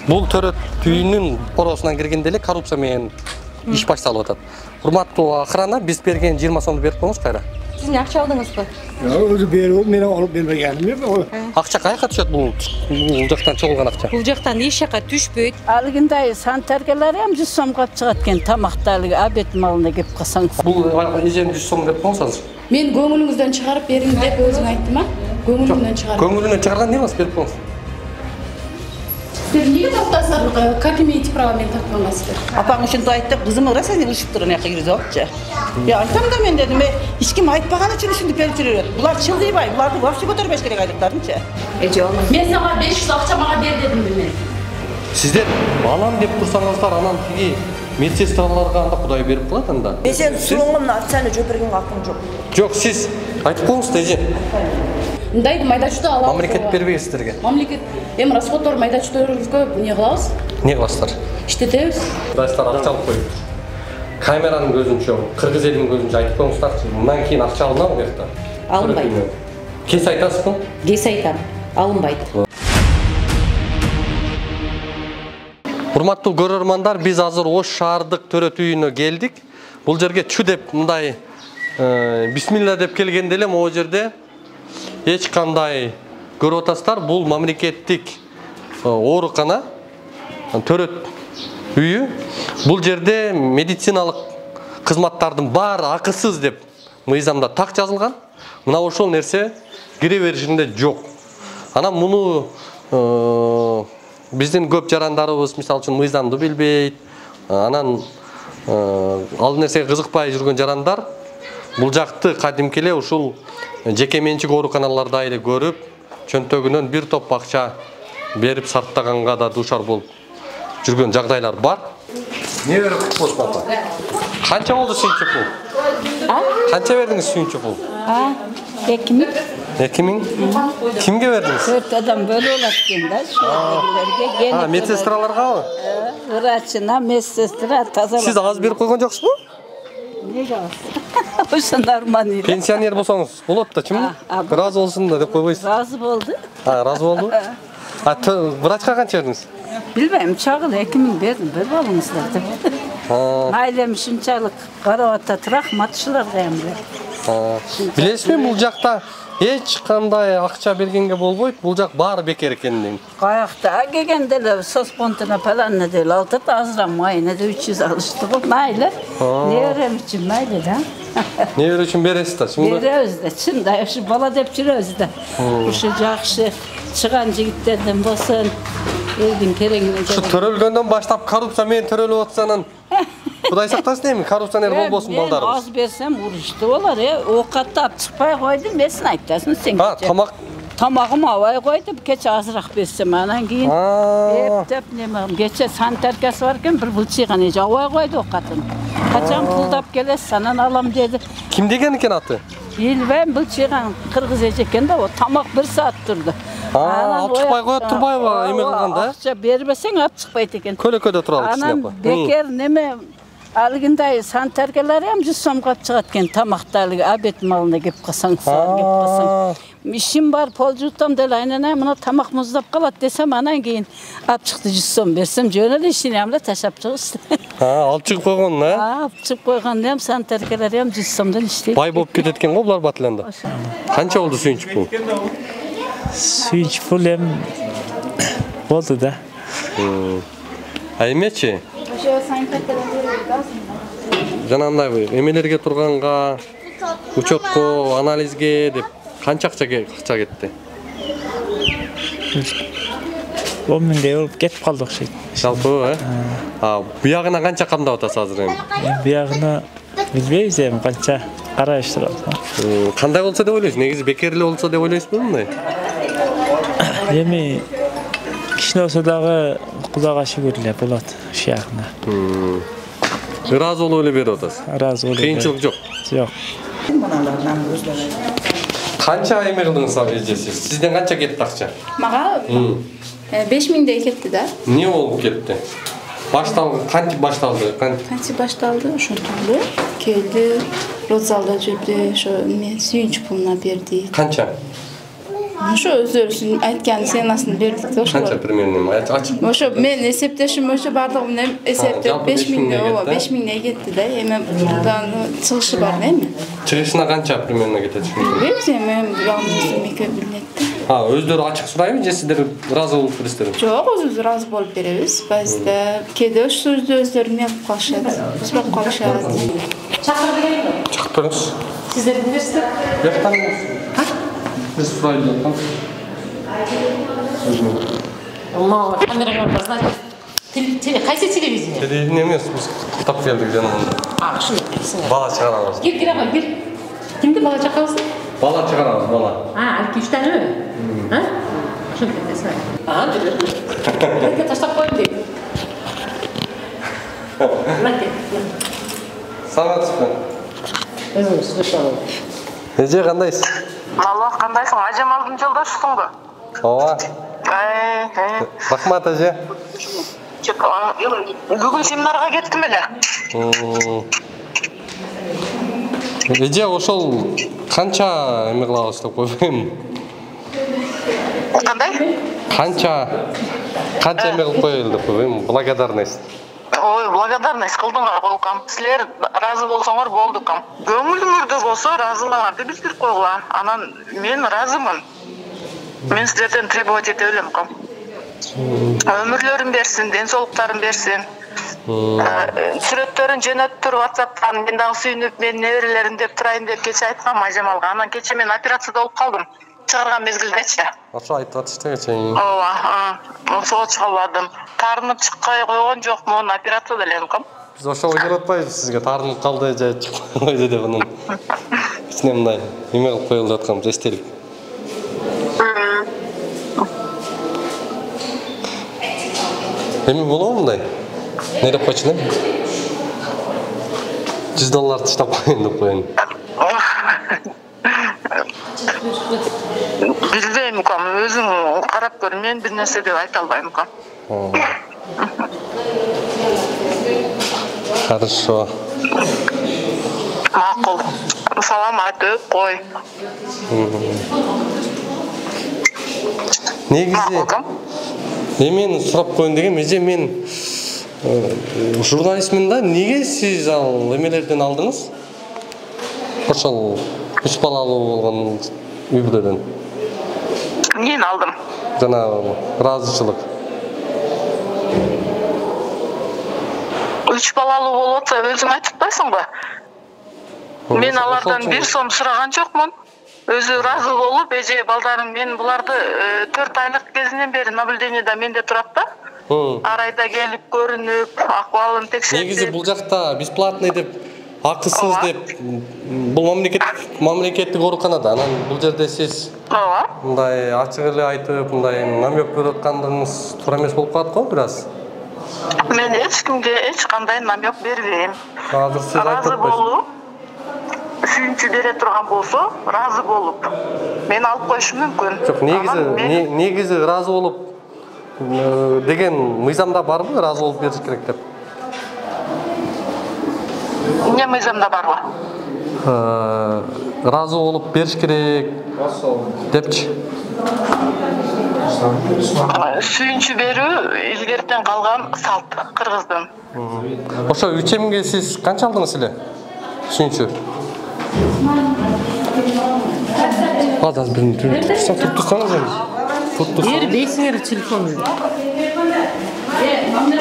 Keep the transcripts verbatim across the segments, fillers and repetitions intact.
Бул төрөт үйүнүн поросунан киргенде эле коррупция менен иш башталып атат. Урматтуу акырана биз берген жыйырма сомду берип коюңуз кайра. Сиз эмне акча алдыңызбы? Жок, өзү берип, мен алып бербегеним жок. Акча каяка түшөт бул? Бул жактан чогулган акча. Бул жактан эч жака түшпөйт. Алгындай санитаркалар ham жүз сомго чыгат экен, тамакты алгы обед малына кеп калсаңыз. Бул эжем жүз сом деп коңуз азыр. Мен көңүлүңүздөн чыгарып бериң деп өзүң айттым а? Көңүлүңдөн чыгарып. Көңүлүнөн чыгарган эмне берип коңуз. Сиздер эмнеге тартасыздар? Как имеете право мени тартканга сиздер? Апаң ушинтип айтты, кызым ыраса не ушуп туруп жака киргизип алыпчы. Я айтам да мен дедим, эч ким айтпаган үчүн ушинтип берип жүрөт. Булар чылдыйбай, буларды вообще көтөрбөш керек айдыктарынчы. Эже болмойт. Мен сага беш жүз акча мага бер дедим мен. Сиздер алам деп турсаңыздар, анан тиги медсестраларга анда Кудай берип коет анда. Мен сен сурооңдун акчаны жөбөргөнгө акым жок. Жок, сиз айтып коңуз да эже. Мындайды майда чүйдө алабыз. Мамлекет бербейт сиздерге. Мамлекет эми расходтор майда чүйдөрүбүзгө эмне кылабыз? Не кыласыздар? Иштетебиз. Кудайсыздар акча алып коюп. Камеранын көзүнчө, кыргыз элинин көзүнчө айтып коңуздарчы, мындан кийин акча алынабы бу жакта? Алынбайт. Кес айтасызбы? Кес айтам. Алынбайт. Урматтуу көрөрмандар, биз азыр Ош шаардык төрөт үйүнө келдик. Бул жерге чү деп мындай бисмилла деп келгенде эле могу жерде эч кандай көрүп атасыздар, бул мамлекеттик оорукана, төрөт үйү. Бул жерде медициналык кызматтардын баары акысыз деп мыйзамда так жазылган. Мына ошол нерсе кире беришинде жок. Анан муну биздин көп жарандарыбыз мисалы үчүн мыйзамды билбейт. Анан ал нерсеге кызыкпай жүргөн жарандар бул жакты кадимки эле ушул жеке менчик ооруканаларда эле көрүп, чөнтөгүнөн бир топ акча берип сарптаганга да дуушар болуп жүргөн жагдайлар бар. Не берип коесуң апа? Канча болду сүйүнчү пул? А? Канча бердиңиз сүйүнчү пул? А, эки миң. эки миң? Кимге бердиңиз? төрт адам бөлүп алат экен да, ушуларга. А, медсестраларгабы? Врачына, медсестра тазалап. Сиз аз берип койгон жоксузбу? Неге аз? Ошо нормально. Пенсионер болсоңуз болот да, чым? Разы болсун да деп койбойсуз. Разы болду. А, разы болду? А, врачка канча бердиңиз? Билбейм, чагыл эки миң бердим, берип алыңыздар деп. Айлем ушунчалык карап атат, рахмат ушуларга эми. Билесизби, бул жакта эч кандай акча бергенге болбойт, бул жак баары бекер экендигин. Каякта келгенде эле соцфондуна паланна деп алтырт, азыраак майына да үч жүз алышты го. Майлы. Нерем үчүн майлы да. Небер үчүн бересиз да, чынбы? Беребиз да, чындай ушу бала деп жүрөбүз да. Ушу жакшы чыган жигиттерден болсун, элдин керегине. Ушу төрөлгөндөн баштап коррупция менен төрөлүп атсанын Кудай сактасын эми, коррупционер болбосун балдарыбыз. Аз берсем урушту болор, э. Оокатты алып чыкпай койдум, месин айтасың сен. А, тамак Тамагым абай койдум, кече азыраак берсем, анан кийин эптеп неме, кече санитаркасы бар экен, бир былчыйган эже абай койду оокатын. Качан пулдап келесиз, анан алам деди. Ким деген экен аты? Билбейм, былчыйган кыргыз эже экен да, тамак бир саат турду. Алып чыкпай коет турбайбы эме кылганда? Акча бербесең алып чыкпайт экен. Көлөкөдө туралы кичине апа. Анан бекер неме алгындай санитаркалар ham жүз сомго чыгат экен, тамакты алгы обед малына кеп калсаң, кеп калсаң. Ишим бар, пол жутам деле айнана, мына тамак муздап калат десем, анан кийин алып чыкты жүз сом берсем, жөн эле ишини ham да ташап чыгышты. А, алып чыгып койгон, а? Алып чыгып койгондо ham санитаркалар ham жүз сомдон иштейт. Бай болуп кетет экен го булар батыланда. Канча болду сүйүнчү пул? Сүйүнчү пул эми болду да. А эмечи? Ошо санитаркадан берип азыр. Жанагындай эмелерге турганга, учетко, анализге деп канча акча акча кетти? он миңдей болуп кетип калды окшойт. Жалпы, э? А, буягына канча камдап атасыз азыр эми? Буягына билбейбиз эми канча караштырып атабыз. Кандай болсо деп ойлойсуз? Негизи бекер эле болсо деп ойлойсузбу мындай? Эми кичине болсо дагы Кудайга шүгүр эле болот ушул жагына. Ыраазы болуп эле берип атасыз. Ыраазы болуп. Кыйынчылык жок. Жок. Канча эме кылдыңыз ал эже сиз? Сизден канча кетти акча? Мага беш миңдей кетти да. Эмне болуп кетти? Башталды, кантип башталды? Кантип башталды? Ошентип келди, родзалда жүрдү, ошо мен сүйүнчү пулуна берди. Канча? Ошо өздөрүнүн айткан ценасын бердик да ошо. Канча примерно ачып? Ошо мен эсептешим ошо бардыгы менен эсептеп беш миңге, ооба, беш миңге кетти да. Эми мындан чыгышы бар да эми. Чыгышына канча примерно кетет? Билбейм, мен жалгыз меке билет. Ha, өздөрү ачык сурайбы же сиздер ыраазы болуп бересиздерби? Жок, өзүбүз ыраазы болуп беребиз. Базда кээде ошо өздөрү эме кылып калышат, сурап калышат. Чакырып берейинби? Чыгып бериңиз. Сиздер кимдерсиздер? Жактан биз сурайлы аткан. Мама, камерага бар, значит, кайсы телевидение? Телевидение эмес, биз китап келдик жанагында. А, ушуну айтасың. Бала чыгарабыз. Кир, кир ага, кир. Кимди бала чакырабыз? Бала чыгарабыз, бала. А, алки үч таныбы? А? Ошентип кетесиң. А, жүрөр. Эке таштап коеюн дейт. Мынакей. Саламатсызбы? Өзүңүз слышал. Эже кандайсыз? Алло, кандайсың? Ажамалдын жолдошусуңбу? Ооба. Ай, ай. Рахмат эже. Бүгүн семинарга кеттим эле. Эже ошол канча эме кылабыз деп койбойм. Кандай? Канча канча эме кылып коелу деп койбойм. Благодарность. Ой, благодарность кылдыңар колкам. Силер разы болсоңор болду кам. Көңүлүңөрдө болсо разылыгыңарды билдирип койгула. Анан мен разымын. Мен силерден требовать эте билем кам. Өмүрлөрүн берсин, ден соолуктарын берсин. Сүрөттөрүн жөнөттүр WhatsApp'тан мен дагы сүйүнүп, мен неберелерим деп турайын деп кече айткам Ажамалга. Анан кече мен операцияда болуп калдым. Чыгарган мезгилдечи. Ошо айтып атышты кече. Ооба, ошого чыга албадым. Таарынып чыкпай койгон жокмун, операцияда элем кам. Биз ошого келип атпайбыз сизге таарынып калды же чыкпай койду деп анан. Кичине мындай эме кылып коелу деп атканбыз, эстелик. Эми болобу мындай? Не деп койчу элем? жүз доллар таштап коеюн деп коеюн. Билбейм кам, өзүң карап көр, мен бир нерсе деп айта албайм кам. Хорошо. Макул. Салам айтып кой. Негизи эмени сурап коеюн дегем, эже мен журналистмин да, неге сиз ал эмелерден алдыңыз? Ошол үч балалуу болгон үй бүлөдөн. Мен алдым. Жана ыраазычылык. Үч балалуу болуп атса өзүң айтып атпайсыңбы? Мен алардан бир сом сураган жокмун. Өзү ыраазы болуп, эже балдарым мен буларды төрт айлык кезинен бери наблюдениеда менде турат да. Ар айда келип көрүнүп, акыбалын текшерип. Негизи бул жакта бесплатный деп, акысыз деп, бул мамлекет мамлекеттик ооруканада. Анан бул жерде сиз ооба, мындай ачык эле айтып, мындай намек берип аткандыгыңыз туура эмес болуп калат го бир аз. Мен эч кимге эч кандай намек бербейм. Азыр сиз айтып Разы болуп, сүйүнчү бере турган болсо, разы болуп, мен алып коюшум мүмкүн. Жок, негизи негизи ыраазы болуп деген мыйзамда барбы, ыраазы болуп бериш керек деп? Эмне мыйзамда барбы? Ыраазы болуп бериш керек депчи. Сүйүнчү берүү илгертен калган салт кыргыздын. Ошо үч эмге сиз канча алдыңыз эле? Сүйүнчү. Азыр бир туруп турсаңыз эми. Бер бейсиңер телефонду.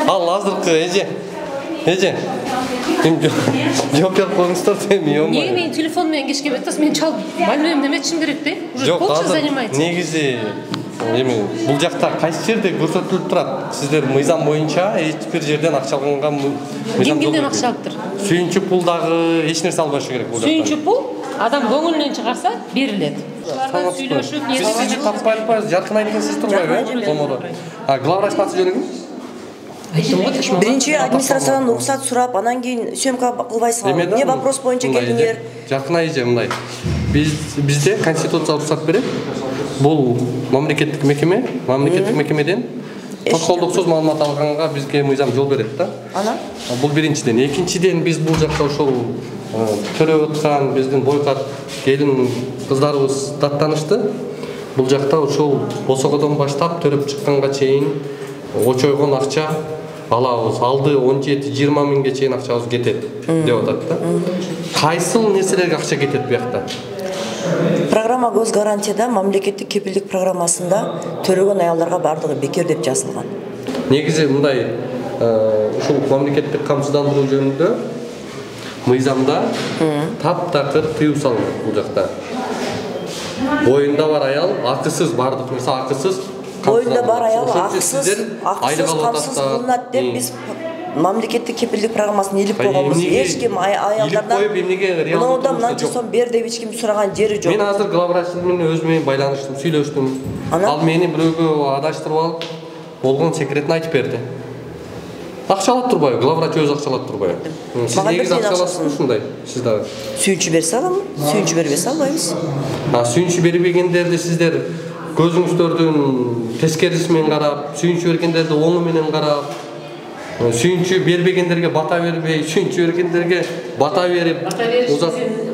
Ал азыркы эже. Эже. Эми жооп берип коюңуздар эми, Неге йомой. менин телефон менен кечке беттас, мен чалып, мальбем неметишим керек да? Уже полчаса занимается. Негизи эми бул жакта кайсы жерде көрсөтүлүп турат? Сиздер мыйзам боюнча эч бир жерден акча алганга Ким кимден акча алыптыр? Сүйүнчү пул дагы эч нерсе албашы керек бул жакта. Сүйүнчү пул адам көңүлүнөн чыгарса берилет. Аларга сүйлөшүп, Биз сизди таппай атпайбыз, жаркын айткан сиз турбайбы? Болмоду. А главврач аты жөнү ким? Биринчи администрациядан уруксат сурап, анан кийин съемка кылбайсыңар. Эмне вопрос боюнча келдиңер? Жаркын айже мындай. Биз бизде конституция уруксат берет. Бул мамлекеттик мекеме, мамлекеттик мекемеден тоскоолдуксуз маалымат алганга бизге мыйзам жол берет да. Анан? Бул биринчиден. Экинчиден биз бул жакта ошол төрөп аткан биздин бойкат келин кыздарыбыз даттанышты. бул жакта ушул босогодон баштап төрөп чыкканга чейин очойгон акча алабыз. Алды он жети жыйырма миңге чейин акчабыз кетет деп атат да. Кайсыл нерселерге акча кетет буякта? Программа көз гарантияда мамлекеттик кепилдик программасында төрөгөн аялдарга бардыгы бекер деп жазылган. Негизи мындай ушул мамлекеттик камсыздандыруу жөнүндө мыйзамда таптакыр тыюу салынат бул жакта. Боюнда бар аял акысыз бардык нерсе акысыз. Боюнда бар аял акысыз, акысыз камсыз кылынат деп биз мамлекеттик кепилдик программасын илип койгонбуз. Эч ким аялдардан мындан мынанча сом бер деп эч ким сураган жери жок. Мен азыр главврач менен өзү менен байланыштым, сүйлөштүм. Ал мени бирөөгө адаштырып алып, болгон секретин айтып берди. Акча алат турбайбы? Главврач өзү акча алат турбайбы? Сиз негизи акча аласызбы ушундай? Сиз дагы сүйүнчү берсе аламын, сүйүнчү бербесе албайбыз. А сүйүнчү бербегендерди сиздер көзүңүздөрдүн тескериси менен карап, сүйүнчү бергендерди оңу менен карап, сүйүнчү бербегендерге бата бербей, сүйүнчү бергендерге бата берип,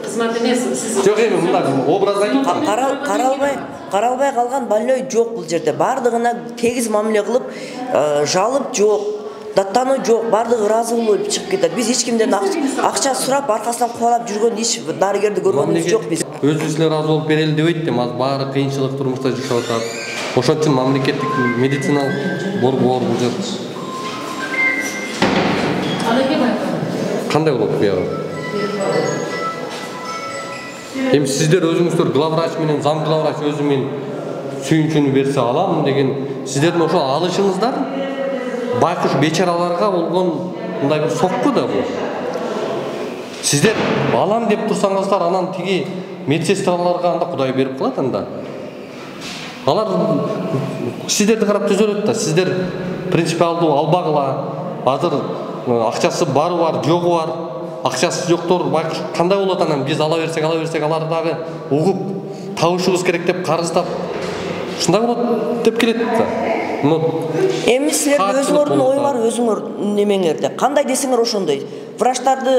кызмат эмес, сиз жок эми мындай образды айтып атам. Каралбай, каралбай калган больной жок бул жерде. Бардыгына тегиз мамиле кылып, жалып жок, даттануу жок, бардыгы ыраазы болуп чыгып кетет. Биз эч кимден акча сурап, аркасынан кубалап жүргөн иш дарыгерди көргөнүбүз жок биз. Өзүбүз эле ыраазы болуп берели дебейт да, азыр баары кыйынчылык турмушта жашап атат. Ошон үчүн мамлекеттик медициналык борбор бул жер. Кандай болот буягы? Эми сиздер өзүңүздөр главврач менен зам главврач өзү мен сүйүнчүнү берсе алам деген сиздердин ошо алышыңыздар байкуш бечараларга болгон мындай бир сокку да бул. Сиздер алам деп турсаңыздар, анан тиги медсестраларга анда Кудай берип калат анда. Алар сиздерди карап түзөлөт да. Сиздер принципиалдуу албагыла. Азыр акчасы бары бар, жогу бар. Акчасы жоктор байкуш кандай болот анан биз ала берсек, ала берсек алар дагы угуп табышыбыз керек деп карыздап ушундай болот деп келет да. Эми силердин өзүңөрдүн оюңар өзүңөр немеңерде. Кандай десеңер ошондой. Врачтарды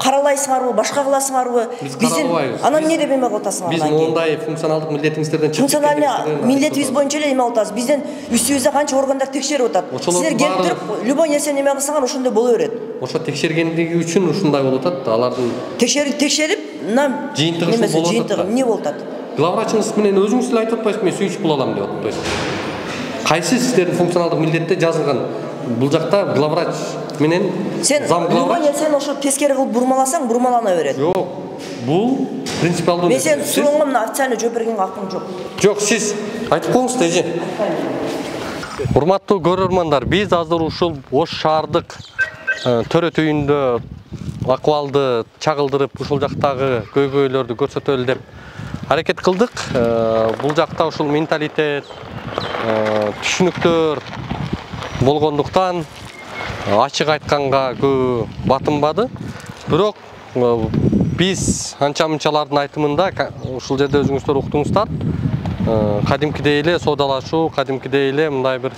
каралайсыңарбы, башка кыласыңарбы? Биздин анан эмне деп эме кылып атасыңар? Биз мондай функционалдык милдетиңиздерден чыгып функциональный милдетибиз боюнча эле эме атабыз. Бизден үстүбүздө канча органдар текшерип атат. Силер келип туруп, любой нерсени эме кылсаңар ошондой боло берет. Ошо текшергендиги үчүн ушундай болуп атат да. Алардын текшерип текшерип, мына жыйынтыгы болуп атат. Эмне болуп атат? Главврачыңыз менен өзүңүз эле айтып атпайсызбы, мен сүйүнчү пул алам деп атпайсызбы? Кайсы сиздердин функционалдык милдетте жазылган? Бул жакта главврач менен зам главврач. Сен сен ошо тескери кылып бурмаласаң, бурмалана берет. Жок. Бул принципиалдуу. Мен сен сурооңо мына официально жооп бергенге акым жок. Жок, сиз айтып коюңуз тежи. Урматтуу көрөрмандар, биз азыр ушул Ош шаардык төрөт үйүндө акыбалды чагылдырып, ушул жактагы көйгөйлөрдү көрсөтөлү деп аракет кылдык. Бул жакта ушул менталитет, түшүнүктөр болгондуктан ачык айтканга көп батынбады. Бирок биз анча-мынчалардын айтымында ушул жерде өзүңүздөр уктуңуздар, кадимкидей эле соодалашуу, кадимкидей эле мындай бир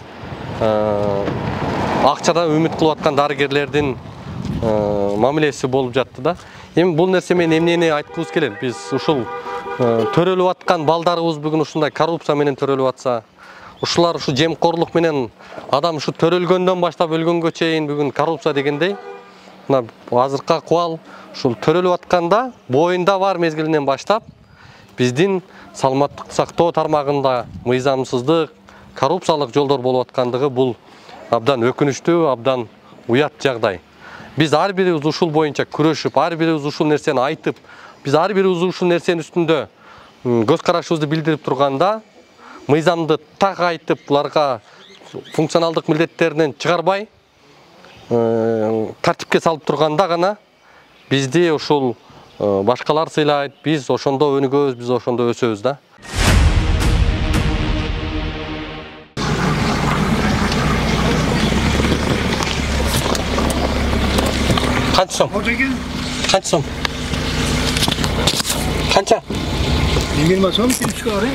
акчадан үмүт кылып аткан дарыгерлердин мамилеси болуп жатты да. Эми бул нерсе менен эмнени айткыбыз келет? Биз ушул төрөлүп аткан балдарыбыз бүгүн ушундай коррупция менен төрөлүп атса, ушулар ушу жемкорлук менен адам ушу төрөлгөндөн баштап өлгөнгө чейин бүгүн коррупция дегендей, мына азыркы акыбал ушул төрөлүп атканда боюнда бар мезгилинен баштап биздин саламаттык сактоо тармагында мыйзамсыздык, коррупциялык жолдор болуп аткандыгы бул абдан өкүнүчтүү, абдан уят жагдай. Биз ар бирибиз ушул боюнча күрөшүп, ар бирибиз ушул нерсени айтып, биз ар бирибиз ушул нерсенин үстүндө көз карашыбызды билдирип турганда, мыйзамды так айтып, буларга функционалдык милдеттеринен чыгарбай, тартипке салып турганда гана бизди ушул башкалар сыйлайт, биз ошондо өнүгөбүз, биз ошондо өсөбүз да. Канча сом? Канча сом? Канча? yigirma сом келип чыгар, э?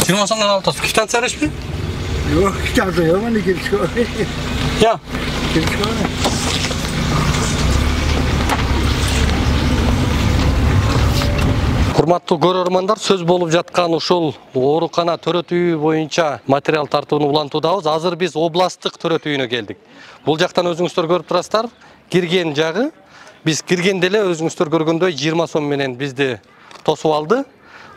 жыйырма сомдон алып атасыз. Квитанция беришпи? Жок, квитанция жок, мына келип чыгар. Я. Келип чыгар. Урматтуу көрөрмандар, сөз болуп жаткан ушул оорукана төрөтүү боюнча материал тартууну улантуудабыз. Азыр биз областтык төрөтүүнө келдик. Бул жактан өзүңүздөр көрүп турасыздар, кирген жагы. Биз киргенде эле өзүңүздөр көргөндөй жыйырма сом менен бизди тосуп алды.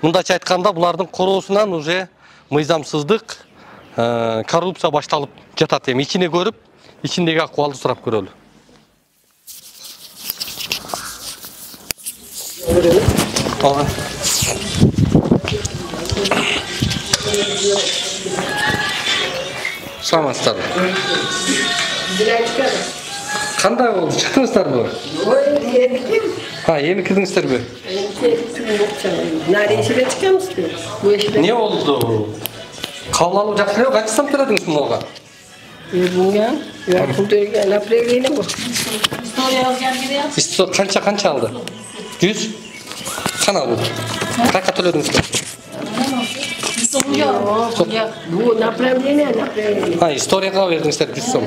Мындайча айтканда, булардын короосунан уже мыйзамсыздык, коррупция башталып жатат. Эми ичине көрүп, ичиндеги акыбалды сурап көрөлү. Ага. Саламатсыздар. Кандай болду? Чыктыңыздарбы? Ha, эми кирдиңиздерби? Не болду? Кабыл алуу жакшы эле, канча сом төлөдүңүз мунга? Bilmiyorum. Ya pul töregen apreliydi bu. İsto kança kança aldı? yüz? Kana bu. Kaça төлөдүңүз? Yok, yok. Bu napreliydi, napreliydi. Ha, istorияга бердиңиздер жүз сом.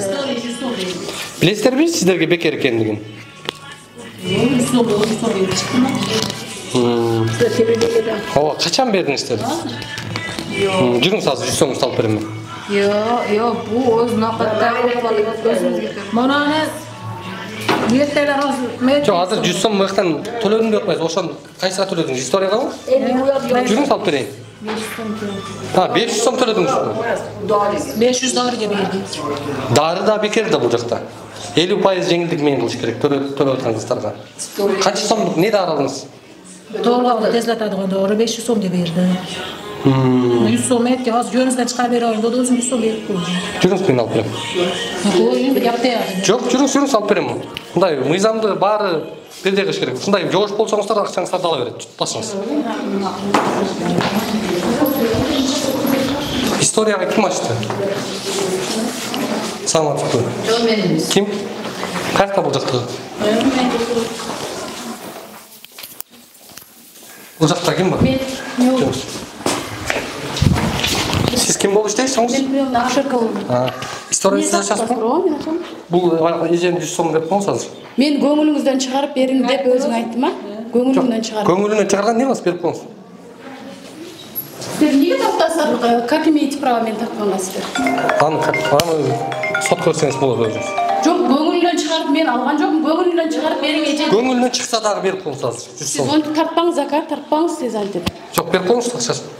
Билесиздерби сиздерге бекер экендигин? Ооба, качан бердиңиздер? Жүрүңүз азыр жүз сомду алып берем. Yok, yok, bu o'z naqadda o'zimizga. Mana ertalar hozir Жок, азыр жүз сом мыктан төлөдүм деп атпайсыз. Ошон кайсыга төлөдүңүз? Историяга? Жүрүңүз алып берейин. Ha, besh yuz сом төлөдүңүз. besh yuz dollarga berdik. Дары да бекер да бул жакта. elүү пайыз жеңилдик менен кылыш керек төлөп аткан кыздарга. Канча сомдук не дары алдыңыз? To'g'ri, tezlatadigan dori besh yuz so'mga berdi. yüz so'm aytdi, hozir jo'ningizdan chiqarib berayin dedi, o'zim yüz so'm berib qo'ydim. Жүрүңүз мен алып берем. Qo'ying, gapda. Жок, жүрүңүз, жүрүңүз алып берем. Мындай мыйзамды баары бирдей кылыш керек. Ушундай жоош болсоңуздар акчаңыздарды ала берет. Tutпасыңыз. Историяга ким ачты? Саламатсызбы? Жок, мен. Ким? Кайерде бул жакта? Бул жакта ким бар? Мен. Жок. Siz kim болуп иштейсиңиз? Мен акшерка болдум. Ha. История сиз ачасызбы? Бул эжен жүз сом деп коңуз азыр. Мен көңүлүңүздөн чыгарып бериң деп өзүң айттым а? Көңүлүңдөн чыгарып. Көңүлүнөн чыгарган не кыласыз, берип коңуз. Сиздер эмнеге токтосуздар? Как имеете право мени тартканга сиздер? Аны аны сот көрсөңүз болот өзүңүз. Жок, көңүлүнөн чыгарып мен алган жокмун. Көңүлүнөн чыгарып бериң эже. Көңүлүнөн чыкса дагы берип коңуз азыр. жүз сом. Сиз onu тартпаңыз, ака, тартпаңыз сиз антип. Жок, берип коңуз акчасын.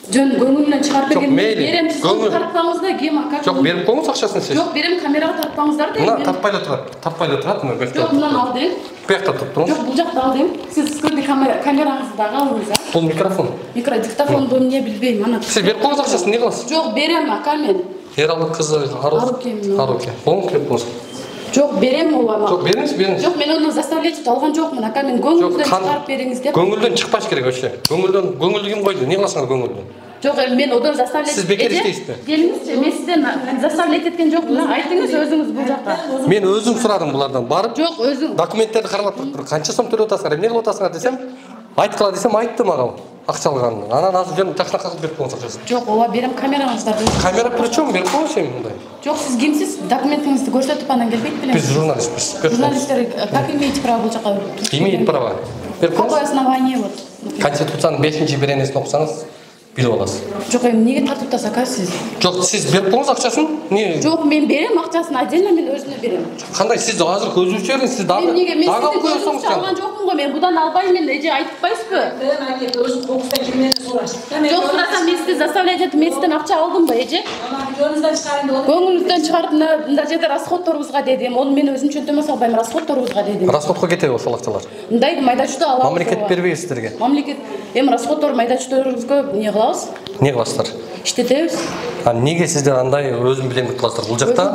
Жөн көңүлүнөн чыгарып Жок, берген мейли. берем, сиз onu тартпаңыз да, кем ака. Жок, берип коңуз акчасын сиз. Жок, берем, камерага тартпаңыздар да. Мына тартпай эле турат. Тартпай эле турат, мына бекте. Жок, мындан ал дейм. Бекте туруп туруңуз. Жок, бул жакта ал дейм. Сиз скрытый камераңызды дагы алыңыз а. Бул микрофон. Микро диктофонду эмне билбейм, ана. Сиз берип коңуз акчасын, не кыласыз? Жок, берем ака мен. Эралы кызы Аруке. Аруке. Оң берип коңуз. Жок, берем ооба. Жок, бериңиз, бериңиз. Жок, мен onu заставлять алган жокмун, ака, мен көңүлүмдөн чыгарып бериңиз деп. Көңүлдөн чыкпаш керек вообще. Көңүлдөн, көңүлдү ким койду? Не кыласыңар көңүлдөн? Жок, мен одан заставлять. Сиз бекер иштейсизби? Келиңизчи, мен сизден заставлять эткен жокмун. Айтыңыз өзүңүз бул жакка. Мен өзүм сурадым булардан. Барып, Жок, өзүң. документтерди карап туруп, канча сом төлөп атасыңар, эмне кылып атасыңар десем, айткыла десем, айтты мага акча алганын. Анан азыр жөн жакшына кагып берип коңуз акчасын. Жок, ооба, берем камераңыздарды. Камера причем берип коңуз эми мындай. Жок, сиз кимсиз? Документиңизди көрсөтүп анан келбейт белең. Биз журналистпиз. Журналисттер как имеете право бул жака? Имеет право. Берип коңуз. Какое основание вот? Конституциянын бешинчи беренесин окусаңыз, билип аласыз. Жок, эми эмнеге тартып атасыз ака сиз? Жок, сиз берип коңуз акчасын. Не? Жок, мен берем акчасын, отдельно мен өзүнө берем. Кандай сиз азыр көзүңүз бериңиз, сиз дагы дагы алып коесоңуз жок. Алган жокмун го мен, будан албайм мен, эже айтпайсызбы? Мен айтып, өзү кокустан кимден сураш. Жок, сурасам мен сизди заставлять этип, мен сизден акча алдымбы, эже? Жөнүңүздөн чыгарың деп. Көңүлүңүздөн чыгарып, мында жерде расходторубузга дедим. Ону мен өзүм чөнтөмө салбайм, расходторубузга дедим. Расходко кетеби ошол акчалар? Мындай майда чүйдө алабыз. Мамлекет бербейби сиздерге? Мамлекет эми расходтор майда чүйдөрүбүзгө эмне кылабыз? Не кыласыздар? Иштетебиз. А неге сиздер андай өзүм билемдик кыласыздар? Бул жакта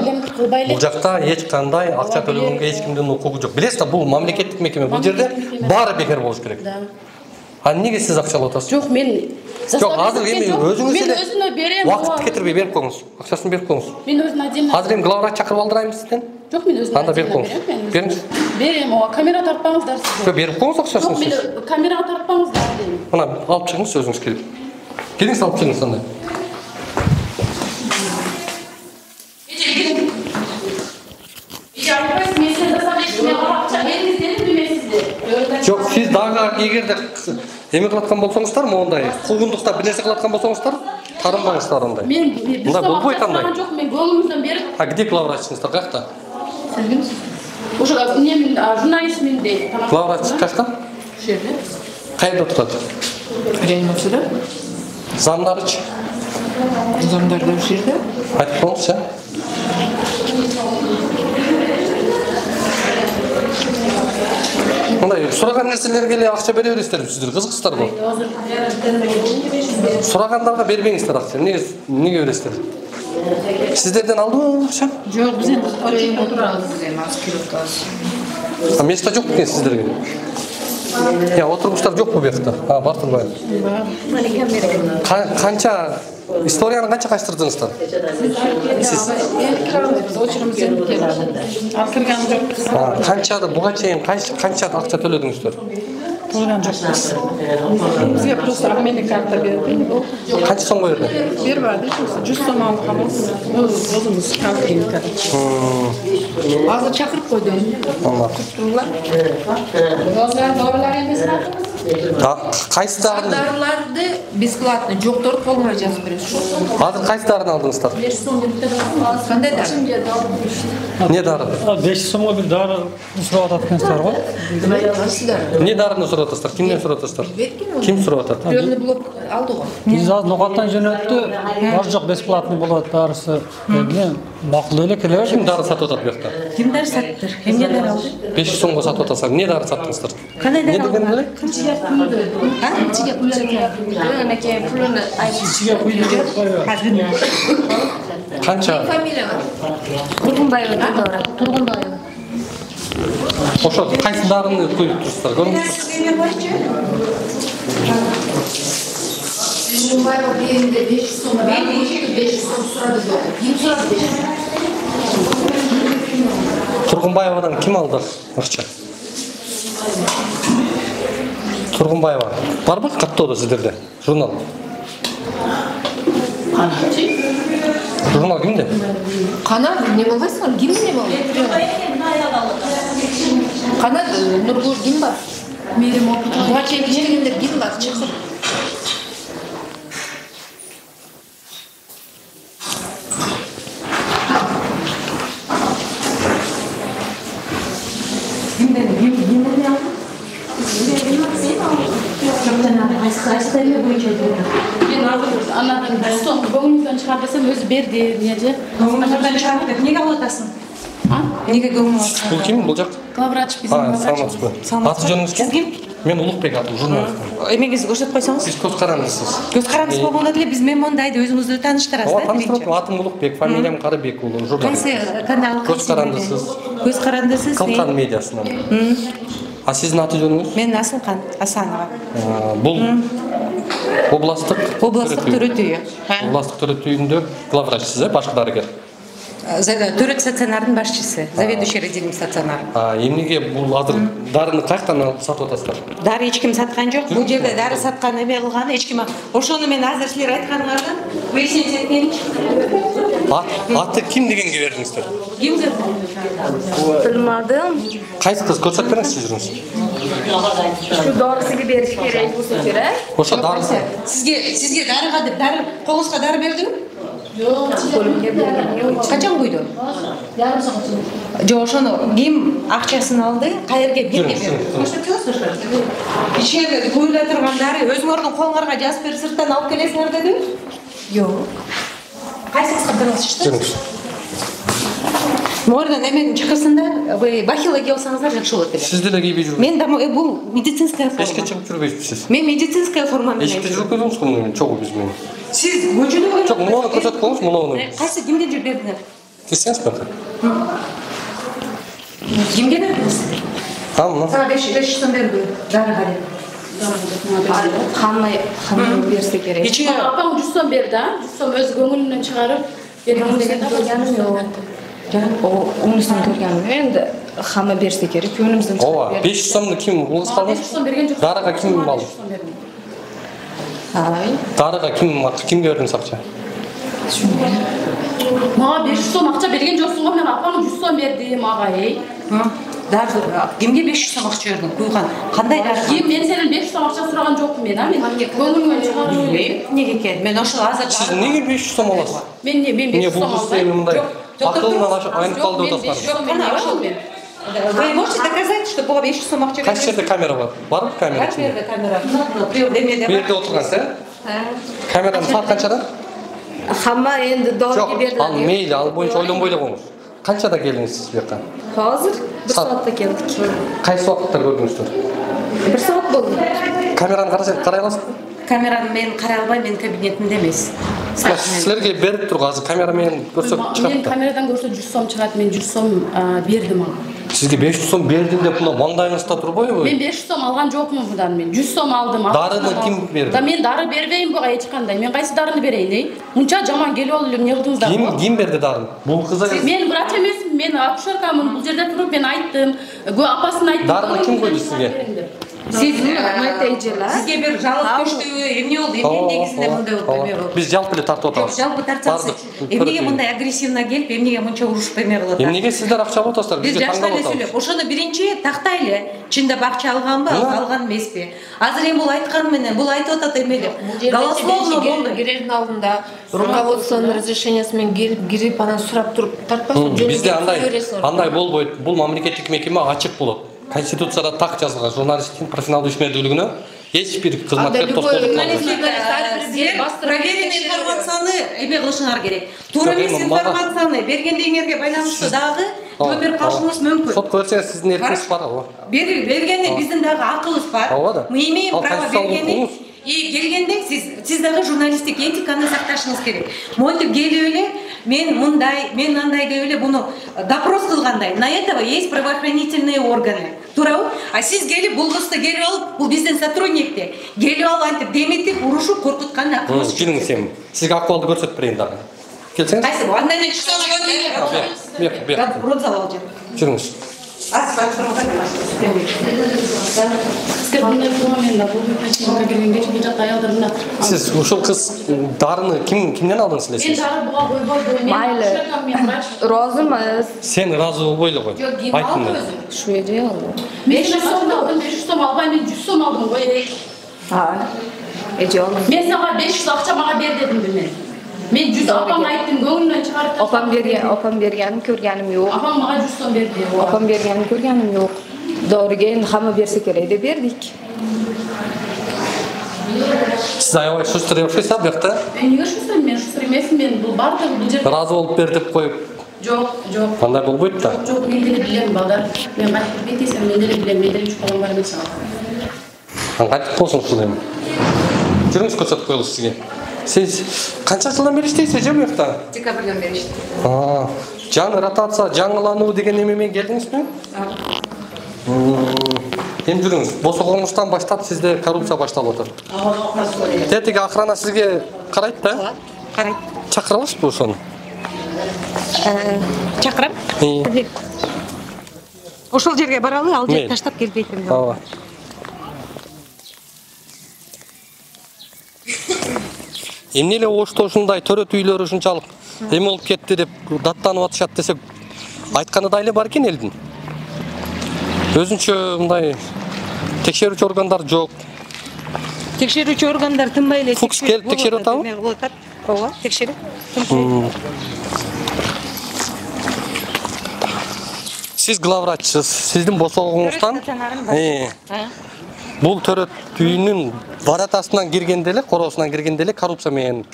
бул жакта эч кандай акча төлөгөнгө эч кимдин укугу жок. Билесиз да, бул мамлекеттик мекеме. Бул жерде баары бекер болуш керек. Да. А неге сиз акча алып атасыз? Жок, мен Жок, азыр эми өзүңүз эле мен өзүнө берем. Убакытты кетирбей берип коңуз. Акчасын берип коңуз. Мен өзүнө отдельно. Азыр эми главврач чакырып алдырайм сизден. Жок, мен өзүнө. Анда берип коңуз. Бериңиз. Берем, ооба, камера тартпаңыздар сиз. Жок, берип коңуз акчасын Жок, сиз. мен камерага тартпаңыздар дейм. Мына алып чыгыңыз өзүңүз келип. Келиңиз алып чыгыңыз анда. Жок, сиз дагы Дагы эгерде эме кылаткан болсоңуздар, мондай куугундукта бир нерсе кылаткан болсоңуздар, тарынбаңыздар андай. Мен мындай болбойт андай. Жок, мен көңүлүмдөн берип. А где главврачыңыздар каякта? Сиз кимсиз? Ошо эмнемин журналистмин дейт. Главврач каякта? Ошо жерде. Кайда отурат? Реанимацияда? Замдарычы? Замдар да ошол жерде. Айтып коңузчу. Мындай сураган нерселерге эле акча бере бересиздерби сиздер? Кызыксыздарбы? Сурагандарга бербеңиздер акча. Эмнеге эмнеге бересиздер? Сиздерден алдыбы акча? Жок, биз эми очередь отурабыз. А место жок экен сиздерге? Я отургучтар жокпу бу жакта? А, бар турбайбы? Канча историяны канча качтырдыңыздар? Сиз очередь келди. Ал кирген жок. Канчада буга чейин канча акча төлөдүңүздөр? Төлөгөн жокпуз. Бизге просто обменный карта берди. Канча сомго берди? Бербади, жүз сом алганбыз. Өзүбүз калдык. Азыр чакырып койду. Аңлап. Дозалар дорулар эмес ба? Кайсы дарын? Дарыларды бесплатно, жокторду колуна жазып беребиз. Азыр кайсы дарын алдыңыздар? беш сом деп бердим. Кандай дары? Не дары? беш сомго бир дары сурап атат экенсиздер го. Не дарыны сурап атасыздар? Кимден сурап атасыздар? Ким сурап атат? Приемный блок алды го. Биз азыр ноокаттан жөнөттү. Бар жок бесплатный болот дарысы. Эмне макул эле келе. Ким дары сатып атат бuyakta? Ким дары саттыр? Эмне дары алды? беш сомго сатып атасыздар. Не дары саттыңыздар? Кандай дары Не деген эле? Кымчыга күйдү. А? Кымчыга күйдү. Анакей пулуну айтып Кичиге күйдү. Канча? фамилия бар. Тургунбаева Дора. Тургунбаева. Ошо кайсы дарыны коюп турсуздар? Көрүңүздөр. Тургунбаева беринде беш сом, беш сом сурады жок. Ким сурады беш сом? Тургунбаевадан ким алды акча? Тургунбаева. Барбы каттоодо сиздерде? Журнал. Журнал кимде? Канат не болбойсуңар? Ким не болду? Канат Нургул ким бар? Мерим опыт. Буга чейин иштегендер ким бар? Чакыр. Кимден ким кимден алды? Мен азыр анадан жүз сом көңүлүмдөн чыгар десем өзү берди, эмнеже? Көңүлүмдөн чыгар деп эмнеге алып атасың? А? Эмнеге көңүл аласың? Бул ким? Бул жак? Главврач биздин А, главврач. саламатсызбы? Аты жөнүңүз ким? Мен Улукбек атым, журналист. Эмеңизди көрсөтүп койсоңуз? Сиз көз карандысыз. Көз карандысыз болгондо деле биз мен мондайды өзүңүздү тааныштырасыз Ооба, да. тааныштырып, атым Улукбек, фамилиям Карыбек уулу, журналист. Кайсы канал? Көз карандысыз. Көз карандысыз. Калкан медиасынан. А сиздин аты жөнүңүз? Мен Асылкан Асанова. Бул областтык областтык төрөтүйү. Областтык төрөтүйүндө главврачсыз, э, башкы дарыгер. Төрөт стационардын башчысы, заведующий отделением стационар. А эмнеге бул азыр дарыны каяктан алып сатып атасыздар? Дары эч ким саткан жок. Бул жерде дары саткан эме кылган эч ким. Ошону мен азыр силер айтканыңардан выяснить эткенчи. Аты ким дегенге бердиңиздер? Ким деп? Bilmadım. Кайсы кыз көрсөтүп бериңизчи жүрүңүз. Şu doğrusunu beriş gerek bu sefer. Ошо дарысы. Сизге сизге дарыга деп дары колуңузга дары бердиңби? Жок. Качан куйду? Ярым саат чыгып. Жок, ошону ким акчасын алды, каерге кимге берди? Көрсөтөсүз ошо. Ичерде куюла турган дары өзүңөрдүн колуңарга жазып берип сырттан алып келесиңер дедиби? Жок. Кайсыңызга бериңизчи? Мордан эменин чакырсында, вы бахила кие алсаңыздар жакшы болот эле. Сиз деле кийбей жүрүңүз. Мен да бул медицинская форма. Эшикке чыгып жүрбөйсүз. Мен медицинская форма менен. Эшикте жүрүп көрдүңүз муну чогуу биз менен. Сиз көчөдө Жок, муну көрсөтүп коюңуз, муну. Кайсы кимге жүрүп бердиңер? Кирсеңиз бака. Кимге бердиңиз? А, мына. Сага беш сом берди. Дарыга деп. Kanma kanma berse gerek. Ичиге Апаң жүз сом берди, а? жүз сом өз көңүлүнөн чыгарып берген деген Görgenim yok. O onusunu görgenim. Endi hamma berse gerek. Önümüzden Ооба, беш сомду ким улгуз калды? жүз сом берген жок. Дарыга ким алды? Ay. Дарыга ким кимге бердиңиз акча? Мага беш жүз сом акча берген жоксуң го, мен апаң жүз сом бердим ага, эй. Дары кимге беш жүз сом акча бердиң? Куйган. Кандай дары? Ким мен сенен беш жүз сом акча сураган жокмун мен, а мен көңүлмөн чыгарып элем. Неге экен? Мен ошол азыр Сиз эмнеге беш жүз сом аласыз? Мен не, мен беш жүз сом алсам. Эмне мындай? Акылынан айнып калды деп атасыздар. Кана ошол мен. Вы можете доказать, что буга беш жүз сом акча бердиң? Кайсы жерде камера бар? Барбы камера? Кайсы жерде камера? Демеде. Бу жерде отургансыз, э? Камеранын саат канчада? Хамма энди доорго берди. Ал мейли, ал боюнча ойлонбой эле коңуз. Канчада келдиңиз сиз бу жака? Азыр бир саатта келдик. Кайсы убакытта көрдүңүздөр? Бир саат болду. Камераны карай аласызбы? Камераны мен карай албайм, мен кабинетимде эмес. Силерге берип тургу, азыр камера менен көрсөк чыгат. Мен камерадан көрсө жүз сом чыгат, мен жүз сом бердим ага. Сизге беш жүз сом бердим деп мына маңдайыңызда турбойбу? Мен беш жүз сом алган жокмун мындан, мен жүз сом алдым. Дарыны ким берди? Да мен дары бербейм буга эч кандай. Мен кайсы дарыны берейин, эй? Мынча жаман келип алып эле эмне кылдыңыздар? Ким ким берди дарын? Бул кыз эле. Мен врач эмесмин, мен акушеркамын. Бул жерде туруп мен айттым. Көө апасын айттым. Дарыны ким койду сизге? Сиз майтейжела. Сизге бир жалып көчтүбү, эмне болду? Эмне негизинде мындай болуп эме болду? Биз жалпы эле тартып атабыз. Жалпы тартсак, эмнеге мындай агрессивно келип, эмнеге мынча урушуп эме кылып атат? Эмнеге сиздер акча алып атасыздар? Биз Бизге жаштар таңдап эле атабыз. сүйлөп, ошону биринчи тактайлы. Чындап акча алганбы, алган эмеспи? Азыр эми бул айтканы менен, бул айтып атат эме деп. Голословно болду. Кирердин алдында руководствонун разрешениясы менен келип, кирип анан сурап туруп тартпайсың. Бизде андай андай болбойт. Бул мамлекеттик мекеме ачык болот. Конституцияда так жазылган, журналисттин профессионалдуу ишмердүүлүгүнө эч бир кызматкер тоскоолдук кылбайт. Проверенный информацияны эме кылышыңар керек. Туура эмес информацияны бергендигиңерге байланыштуу дагы жооп берип калышыңыз мүмкүн. Сотко берсеңиз сиздин эркиңиз бар, ооба. Бергенде биздин дагы акылыбыз бар. Мы имеем право бергенди. И келгенде сиз сиз дагы журналисттик этиканы сакташыңыз керек. Монтип келип эле мен мындай, мен андай деп эле буну допрос кылгандай. На этого есть правоохранительные органы. Туурабы? А сиз келип бул кызды келип алып, бул биздин сотрудникти. Келип алып антип деметип, урушуп, коркуткан акыбыз. Жүрүңүз эми. Сизге акыбалды көрсөтүп берейин дагы. Келсеңиз. Кайсы бу? Андан эле чыксаңыз. Бек, бек. Рот зал алып. Жүрүңүз. Сиз ушул кыз дарыны ким кимден алдыңыз эле сиз? Мен дары буга койбойдум. Майлы. Розымыз. Сен разы болбой эле кой. Айттым мен. Ушу эже алды. беш жүз сом алдым, беш жүз сом албай мен жүз сом алдым ғой. А. Эже алды. Мен сага беш жүз акча мага бер дедим мен. Мен жүз апам айттым, көңүлүмөн чыгарып таштап. Апам берген, апам бергенин көргөнүм жок. Апам мага жүз сом берди. Апам бергенин көргөнүм жок. Доорген хамма берсе керек деп бердик. Сиз аябай шустер окшойсуз бу жакта. Мен эмне шустер, мен шустер эмесмин, мен бул бардыгы бул жерде. Разы болуп бер деп коюп. Жок, жок. Кандай болбойт да? Жок, мен деле билем балдар. Мен кайтып кетесем, мен деле билем, мен деле чукалым бар эмес ага. Кайтып болсун ушул эми. Жүрүңүз көрсөтүп коелу сизге. Сиз канча жылдан бери иштейсиз эже бу жакта? Декабрдан бери иштейм. Аа, жаңы ротация, жаңылануу деген эме менен келдиңизби? Эми жүрүңүз. Босогоңуздан баштап сизде коррупция башталып атат. Тетиги охрана сизге карайт да? Карайт. Чакыра аласызбы ошону? Чакырам? Ошол жерге баралы, ал жерди таштап келбейтин. Ооба. Эмне эле Ошто ушундай төрөт үйлөрү ушунчалык эме болуп кетти деп даттанып атышат десек, айтканы да эле бар экен элдин. Өзүнчө мындай текшерүүчү органдар жок. Текшерүүчү органдар тынбай эле Фукс келип текшерип атабы? Ооба, текшерип. Сиз главврачсыз, сиздин босогоңуздан бул төрөт үйүнүн варатасынан киргенде эле, короосунан киргенде эле коррупция менен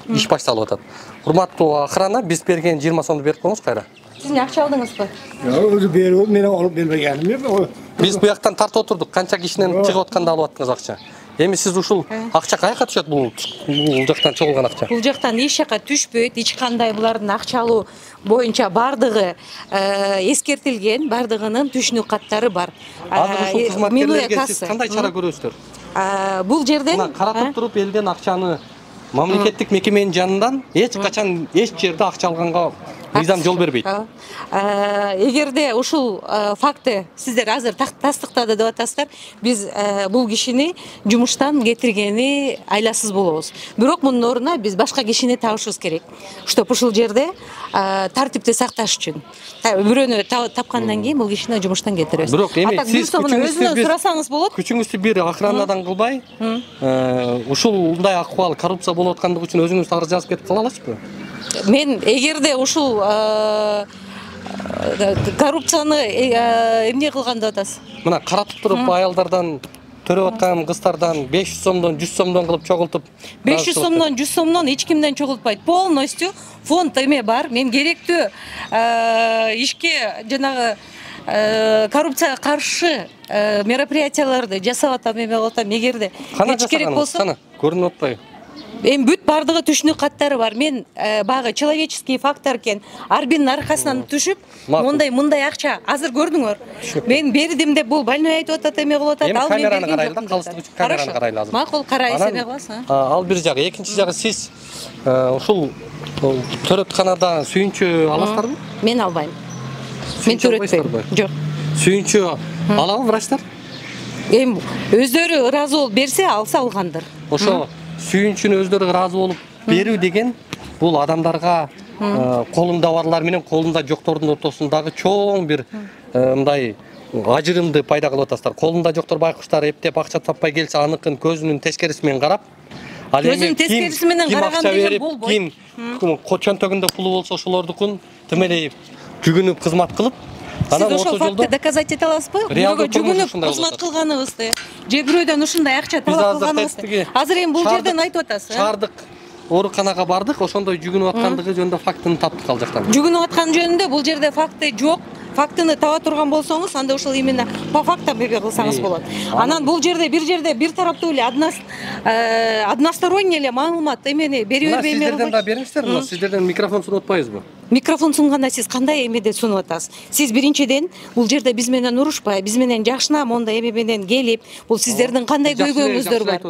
иш башталып атат. Урматтуу охрана, биз берген жыйырма сомду берип коңуз кайра. Сиз эмне акча алдыңызбы? Жок, өзү берип, мен алып бербегеним жок. Биз бу жактан тартып отурдук, канча кишинен чыгып атканда алып аттыңыз акча. Эми сиз ушул акча каяка түшөт бул бул жактан чогулган акча? Бул жактан эч жака түшпөйт, эч кандай булардын акча алуу боюнча бардыгы эскертилген, бардыгынын түшүнүк каттары бар. Азыр ушул кызматкерлерге сиз кандай чара көрөсүздөр? Бул жерден мына каратып туруп элден акчаны мамлекеттик мекеменин жанынан эч качан эч жерде акча алганга мыйзам жол бербейт. Эгерде ушул факты сиздер азыр тастыктады деп атасыздар, биз бул кишини жумуштан кетиргени айласыз болобуз. Бирок мунун ордуна биз башка кишини табышыбыз керек. Чтоб ушул жерде тартипти сакташ үчүн. Бирөөнү тапкандан кийин бул кишини жумуштан кетиребиз. Бирок эми сиз өзүнөн сурасаңыз болот. Күчүңүздү бир охранадан кылбай, ушундай акыбал коррупция болуп аткандыгы үчүн өзүңүз арыз жазып кетип кала аласызбы? Мен эгерде ушул коррупцияны эмне кылган деп атасыз? Мына каратып туруп аялдардан төрөп аткан кыздардан беш жүз сомдон жүз сомдон кылып чогултуп, беш жүз сомдон жүз сомдон эч кимден чогултпайт. Полностью фонд эме бар. Мен керектүү ишке жанагы коррупцияга каршы мероприятияларды жасап атам, эме кылып атам. Эгерде эч керек болсо, көрүнүп атпайбы? Эми бүт бардыгы түшүнүк каттары бар. Мен багы человеческий фактор экен. Ар биринин аркасынан түшүп, мондай мындай акча азыр көрдүңөр. Мен бердим деп бул больной айтып атат, эме кылып атат. Ал мен берген жокмун. Калыстык үчүн камераны карайлы азыр. Макул, карайсыз, эме кыласың? Ал бир жагы, экинчи жагы сиз ушул төрөтканада сүйүнчү аласыздарбы? Мен албайм. Мен төрөтпөйм. Жок. Сүйүнчү алабы врачтар? Эми өздөрү ыраазы болуп берсе, алса алгандыр. Ошо сүйүнчүнү өздөрү ыраазы болуп берүү деген бул адамдарга колунда барлар менен колунда жоктордун ортосундагы чоң бир мындай ажырымды пайда кылып атасыздар. Колунда жоктор байкуштар эптеп акча таппай келсе, аныкын көзүнүн тескериси менен карап, ал эми тескериси менен караган деген болбойт. Ким чөнтөгүндө пулу болсо ошолордукун тимелей жүгүнүп кызмат кылып, анан ошол фактты доказать эте аласызбы? Бирөөгө жүгүнүп кызмат кылганыбызды, же бирөөдөн ушундай акча талап кылганыбызды. Азыр эми бул жерден айтып атасыз. Шаардык ооруканага бардык, ошондой жүгүнүп аткандыгы жөнүндө фактыны таптык ал жактан. Жүгүнүп аткан жөнүндө бул жерде факты жок. Фактыны таба турган болсоңуз, анда ошол именно по фактам эме кылсаңыз болот. Анан бул жерде бир жерде бир тараптуу эле односторонний эле маалымат эмени берип бербей эме. Сиздерден да бериңиздер, мына сиздерден микрофон сунуп атпайбызбы? Микрофон сунганда сиз кандай эмеде сунуп атасыз? Сиз биринчиден бул жерде биз менен урушпай, биз менен жакшына мондай эме менен келип, бул сиздердин кандай көйгөйүңүздөр бар?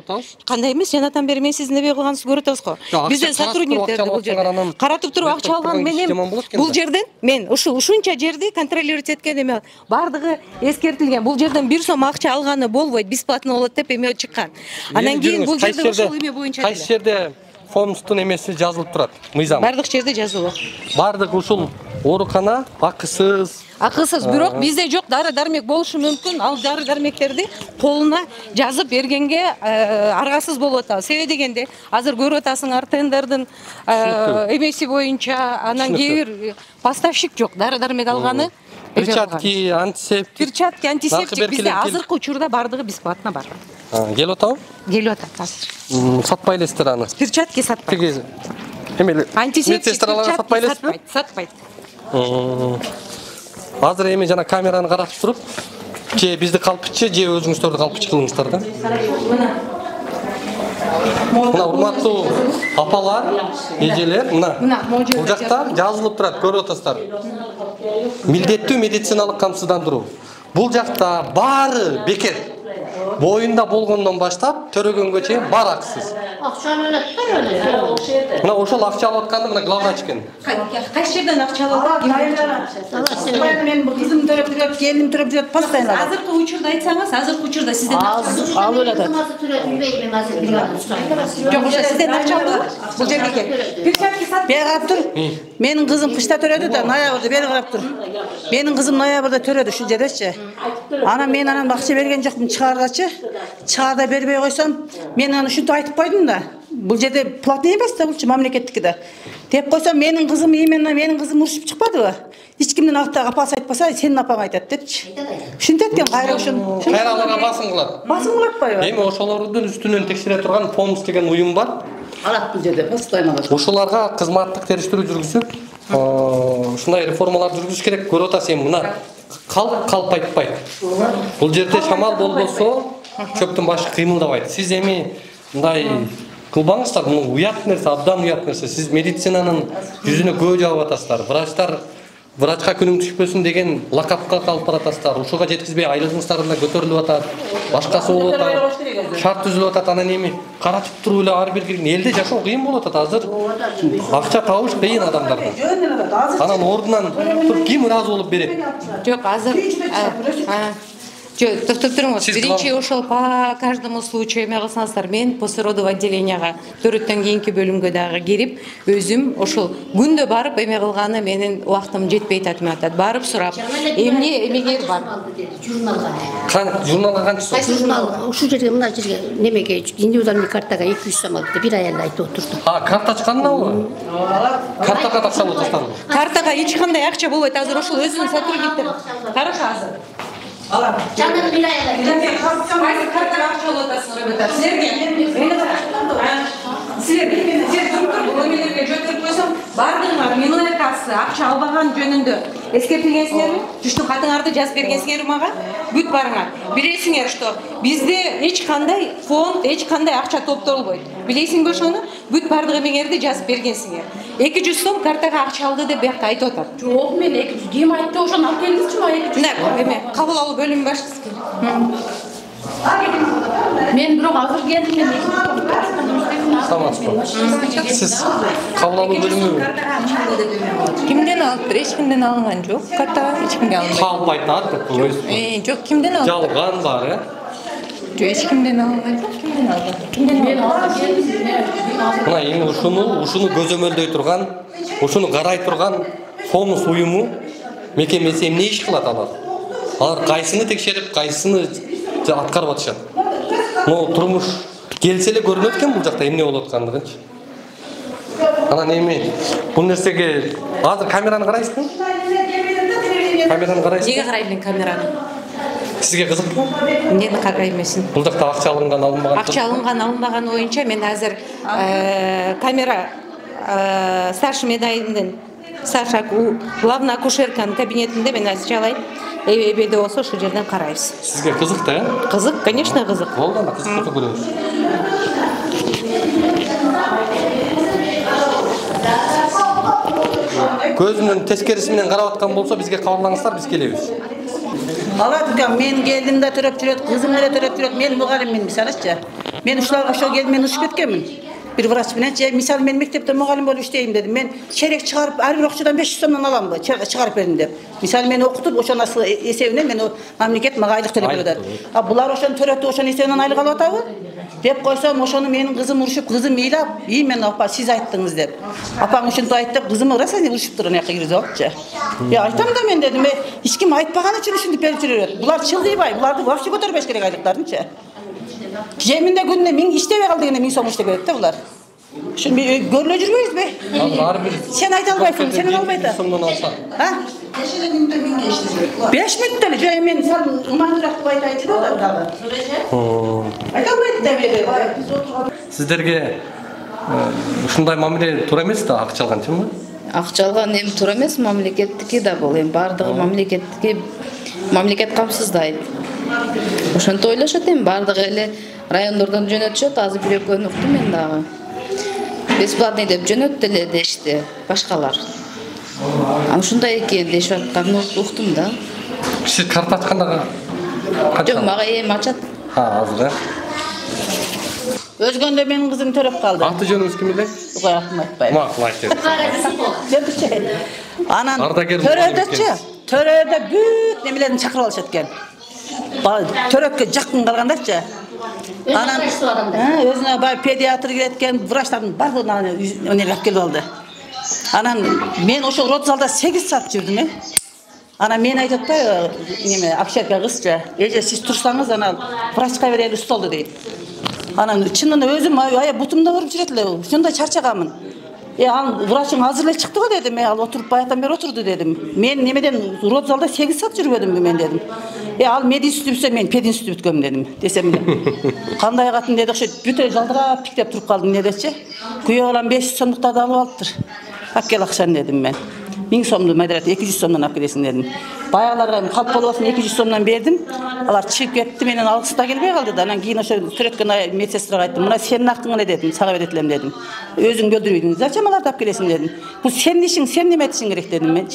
Кандай эмес, жанатан бери мен сиздин эме кылганыңызды көрүп атабыз го. Бизден сотрудниктерди бул жерде каратып туруп акча алган менен бул жерден мен ушул ушунча жерди контролировать эткен эме бардыгы эскертилген. Бул жерден бир сом акча алганы болбойт, бесплатно болот деп эме чыккан. Анан кийин бул жерде ошол эме боюнча кайсы жерде фондтун эмеси жазылып турат, мыйзам? Бардык жерде жазылып. Бардык ушул оорукана акысыз. Акысыз, бирок бизде жок, дары дармек болушу мүмкүн. Ал дары дармектерди колуна жазып бергенге аргасыз болуп атабыз. Себеби дегенде, азыр көрүп атасыңар тендердин эмеси боюнча, анан кээ бир поставщик жок, дары дармек алганы. Перчатки, антисептик. Перчатки, антисептик бизде азыркы учурда бардыгы бесплатно бар. Келип атабы? Келип атат азыр. Сатпай элесиздер аны. Перчатки сатпайт. Эмеле? Антисептик сатпай элесизби? Сатпайт. Азыр эми жана камераны карап туруп, же бизди калпычы, же өзүңүздөрдү калпычы кылыңыздар да. Мына урматтуу апалар, эжелер, мына бул жакта жазылып турат, көрүп атасыздар. Милдеттүү медициналык камсыздандыруу. Бул жакта баары бекер. Боюнда болгондон баштап төрөгөнгө чейин баары акысыз. Акчаны эле. Мына ошол акча алып атканды мына главврач экен. Кайсы жерден акча алып атат? Мен бул кызым төрөп жүрөт, келиним төрөп жүрөт, постоянно. Азыркы учурда айтсаңыз, азыркы учурда сизден акча алып атат. Жок, ошо сизден акча алып, бул жерге кел. Перчатки сат. Бери карап тур. Менин кызым кышта төрөдү да, ноябрда бери карап тур. Менин кызым ноябрда төрөдү ушул жердечи. Анан мен анан акча берген жокмун чыгаргачы. Чыгарда бербей койсом, мен аны ушинтип айтып койдум да. Бул жерде платный эмес да, булчу мамлекеттики да. Деп койсом, менин кызым именно менин кызым урушуп чыкпадыбы? Эч кимдин апасы айтпаса, сенин апаң айтат депчи. Ушинтип эткен кайра ушун. Кайра аларга басым кылат. Басым кылып атпайбы? Эми ошолордун үстүнөн текшере турган фонд деген уюм бар. Алат бул жерде постоянно. Ошоларга кызматтык териштирүү жүргүзүп, ушундай реформалар жүргүзүш керек. Көрүп атасыз, эми мына калп калп айтпайт. Бул жерде шамал болбосо, чөптүн башы кыймылдабайт. Сиз эми мындай кылбаңыздар, бул уят нерсе, абдан уят нерсе. Сиз медицинанын жүзүнө көө жаап атасыздар. Врачтар врачка күнүң түшпөсүн деген лакапка калып баратасыздар. Ушуга жеткизбей айлыгыңыздар да көтөрүлүп атат. Башкасы болуп атат. Шарт түзүлүп атат. Анан эми карачып туруп эле ар бир элде жашоо кыйын болуп атат азыр. Акча табыш кыйын адамдарга. Анан ордунан туруп ким ыраазы болуп берет? Жок, азыр Жок, токтоп туруңуз. Биринчи ошол по каждому случаю эме кылсаңыздар, мен после родового отделенияга төрөттөн кийинки бөлүмгө дагы кирип, өзүм ошол күндө барып эме кылганы менин убактым жетпей атат, атат. Барып сурап, эмне эмегер бар? Журналга. Кан журналга канча сом? Журнал ушул жерге мына жерге немеге индивидуальный картага эки жүз сом алды. Бир аял айтып отурду. А, карта чыккандабы? Картага такса отурсуздар. Картага эч кандай акча болбойт. Азыр ошол өзүнүн сотрудниктери. Карашы азыр. Алам. Жанагы бир аял. Кайсы картага акча алып атасыңар деп. Силерге Силерге силер туруп туруп бөлмөлөргө жөнөтүп койсом, бардыңар минуя кассы акча албаган жөнүндө эскертилгенсиңерби? Түштүк катыңарды жазып бергенсиңерби мага? Бүт барыңар. Билесиңер, что бизде эч кандай фонд, эч кандай акча топторулбойт. Билесиңби ошону? Бүт бардык эмеңерди жазып бергенсиңер. эки жүз сом картага акча алды деп биякта айтып атат. Жок, мен эки жүз ким айтты, ошону алып келиңизчи ма эки жүз? Мына, эме, кабыл алуу бөлүмү башчысы. Мен бирок азыр келдим, мен эки Саламатсызбы. Сиз кабыл алуу бөлүмү Кимден алып, эч кимден алынган жок. Карта эч кимге алынбайт. калып айтат, Э, жок, кимден алып? жалган бар, э? Жок, эч кимден алынган жок. Кимден алган? Кимден мен алып келдим. Мына эми ушуну, ушуну көзөмөлдөй турган, ушуну карай турган Фомус уюму мекемеси эмне иш кылат алар? Алар кайсыны текшерип, кайсыны аткарып атышат? Но турмуш келсе эле көрүнөт экен бул жакта эмне болуп аткандыгынчы. Анан эми бул нерсеге азыр камераны карайсызбы? Камераны карайсызбы? Неге карайбын камераны? Сизге кызыкпы? Эмнени карай эмесин? Бул жакта акча алынган, алынбаган. Акча алынган, алынбаган боюнча мен азыр камера старший медайымдын Саша главный акушерканын кабинетинде мен азыр чалайм. Эбеде болсо ошол жерден карайбыз. Сизге кызык да, э? Кызык, конечно, кызык. Болду, ана кызык болсо көрөбүз. Көзүнүн тескериси менен карап аткан болсо бизге кабарлаңыздар, биз келебиз. Алат укам, мен келдим да төрөп жүрөт, кызым эле төрөп жүрөт, мен мугалиммин мисалычы. Мен ушуларга ошол келип мен учуп кеткенмин. Бир врач менен, же мисалы мен мектепте мугалим болуп иштейм дедим. Мен черек чыгарып, ар бир окуучудан беш жүз сомдон аламбы? Чыгарып бердим деп. Мисалы мен окутуп, ошонун эсебинен мен мамлекет мага айлык төлөп берет. А булар ошону төрөтүп, ошонун эсебинен айлык алып атабы? Деп койсом, ошону менин кызым урушуп, кызым ыйлап, "И, мен апа, сиз айттыңыз" деп. Апаң ушинтип айтты деп, кызым ыраса деп урушуптур, ана жака киргизип алыпчы. Я айтам да мен дедим, эч ким айтпаган үчүн ушинтип берип жүрөт. Булар чылдыйбай, буларды вообще көтөрбөш керек айлыктардынчы. Жеминде күнүнө миң иштебей кал дегенде миң сом иштеп берет да булар. Шун көрүлө жүрбөйбүзбү? Ар бир Сен айта албайсың, сен албайт. сомдон алса. Ha? besh minutda эле жай мен сал ымандыраак кылып айтайчы да дагы. Айта албайт да бере. Сиздерге ушундай мамиле туура эмес да, акча алганчымы? Акча алган эми туура эмес, мамлекеттики да бул. Эми бардыгы мамлекеттики мамлекет камсыздайт. Ошентип ойлошот эми бардыгы эле райондордон жөнөтүшөт, азыр бир экөөнү уктум мен дагы. Бесплатный деп жөнөттү эле дешти башкалар. Аны ушундай экен дешип атканын уктум да. Сиз карта ачканда жок, мага эми ачат. Ha, азыр э? Өзгөндө менин кызым төрөп калды. Аты жөнүңүз ким эле? Ой, рахмат айтпайм. Макул айтыңыз. Анан төрөдөчү, төрөдө бүт немелерин чакырып алышат экен. Төрөткө жакын калгандарчы. Анан өзүнө бай педиатр келет экен, врачтардын бардыгын өнөр алып келип алды. Анан мен ошол рот залда сегиз саат жүрдүм, э. Анан мен айтып да, неме, акушерка кызчы, эже сиз турсаңыз, анан врачка берели столду дейт. Анан чынында өзүм ая бутумда барып жүрөт эле, ушундай чарчаганмын. Э, ал врачың азыр эле чыкты го дедим, э, ал отуруп баягыдан бери отурду дедим. Мен немеден рот залда сегиз саат жүрбөдүмбү мен дедим. Э, ал мединститут бүтсө мен пединститут бүткөм дедим. Десем кандай катын деди, ошо бүтө жалдырап тиктеп туруп калдым недечи. Күйөө балам беш жүз сомдуктарды алып алыптыр. Алып кел акчаны дедим мен. миң сомду майдырат эки жүз сомдон алып келесиң дедим. Баягыларга калп болбосун эки жүз сомдон бердим. Алар чыгып кетти, менен алгысы да келбей калды да. Анан кийин ошо төрөткөн медсестрага айттым. Мына сенин акың эле дедим, сага берет элем дедим. Өзүң бөлдүрбөйсүң. Зачем аларды алып келесиң дедим. Бул сенин ишиң, сен неме этишиң керек дедим мен.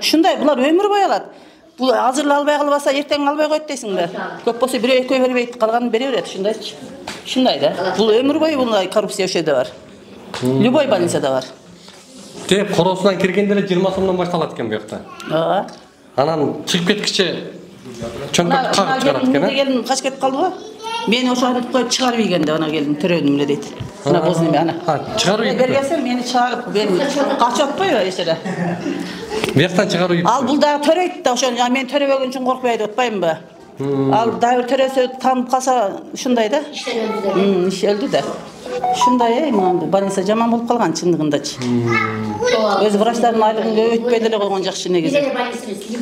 Ушундай булар өмүр бою алат. Бул азыр албай калбаса эртең албай койт дейсиңби? Көп болсо бирөө экөө бербейт, калганын бере берет, ушундайчы. Ушундай да. Бул өмүр бою мындай коррупция ошо жерде бар. Любой больницада бар. Деп коросунан киргенде эле жыйырма сомдон башталат экен бу жакта. Ооба. Анан чыгып кеткиче чөмпөт кагып чыгарат экен. Ана келин качып кетип калды го. Мен ошону коюп чыгарып ийгенде ана келин төрөдүм эле дейт. Ана бозун ана. Ha, чыгарып ийгенде. Бергенсем мени чыгарып, мен качып атпайбы эч жерде. Бу жактан чыгарып ийип. Ал бул дагы төрөйт да, ошону мен төрөбөгөн үчүн коркпой деп атпаймынбы? Ал дагы төрөсө танып калса ушундай да. М, иш өлдү да. Ушундай, мына больница жаман болуп калган чындыгындачы. Өз врачтардын айлыгын көбөйтпөй деле койгон жакшы негизи.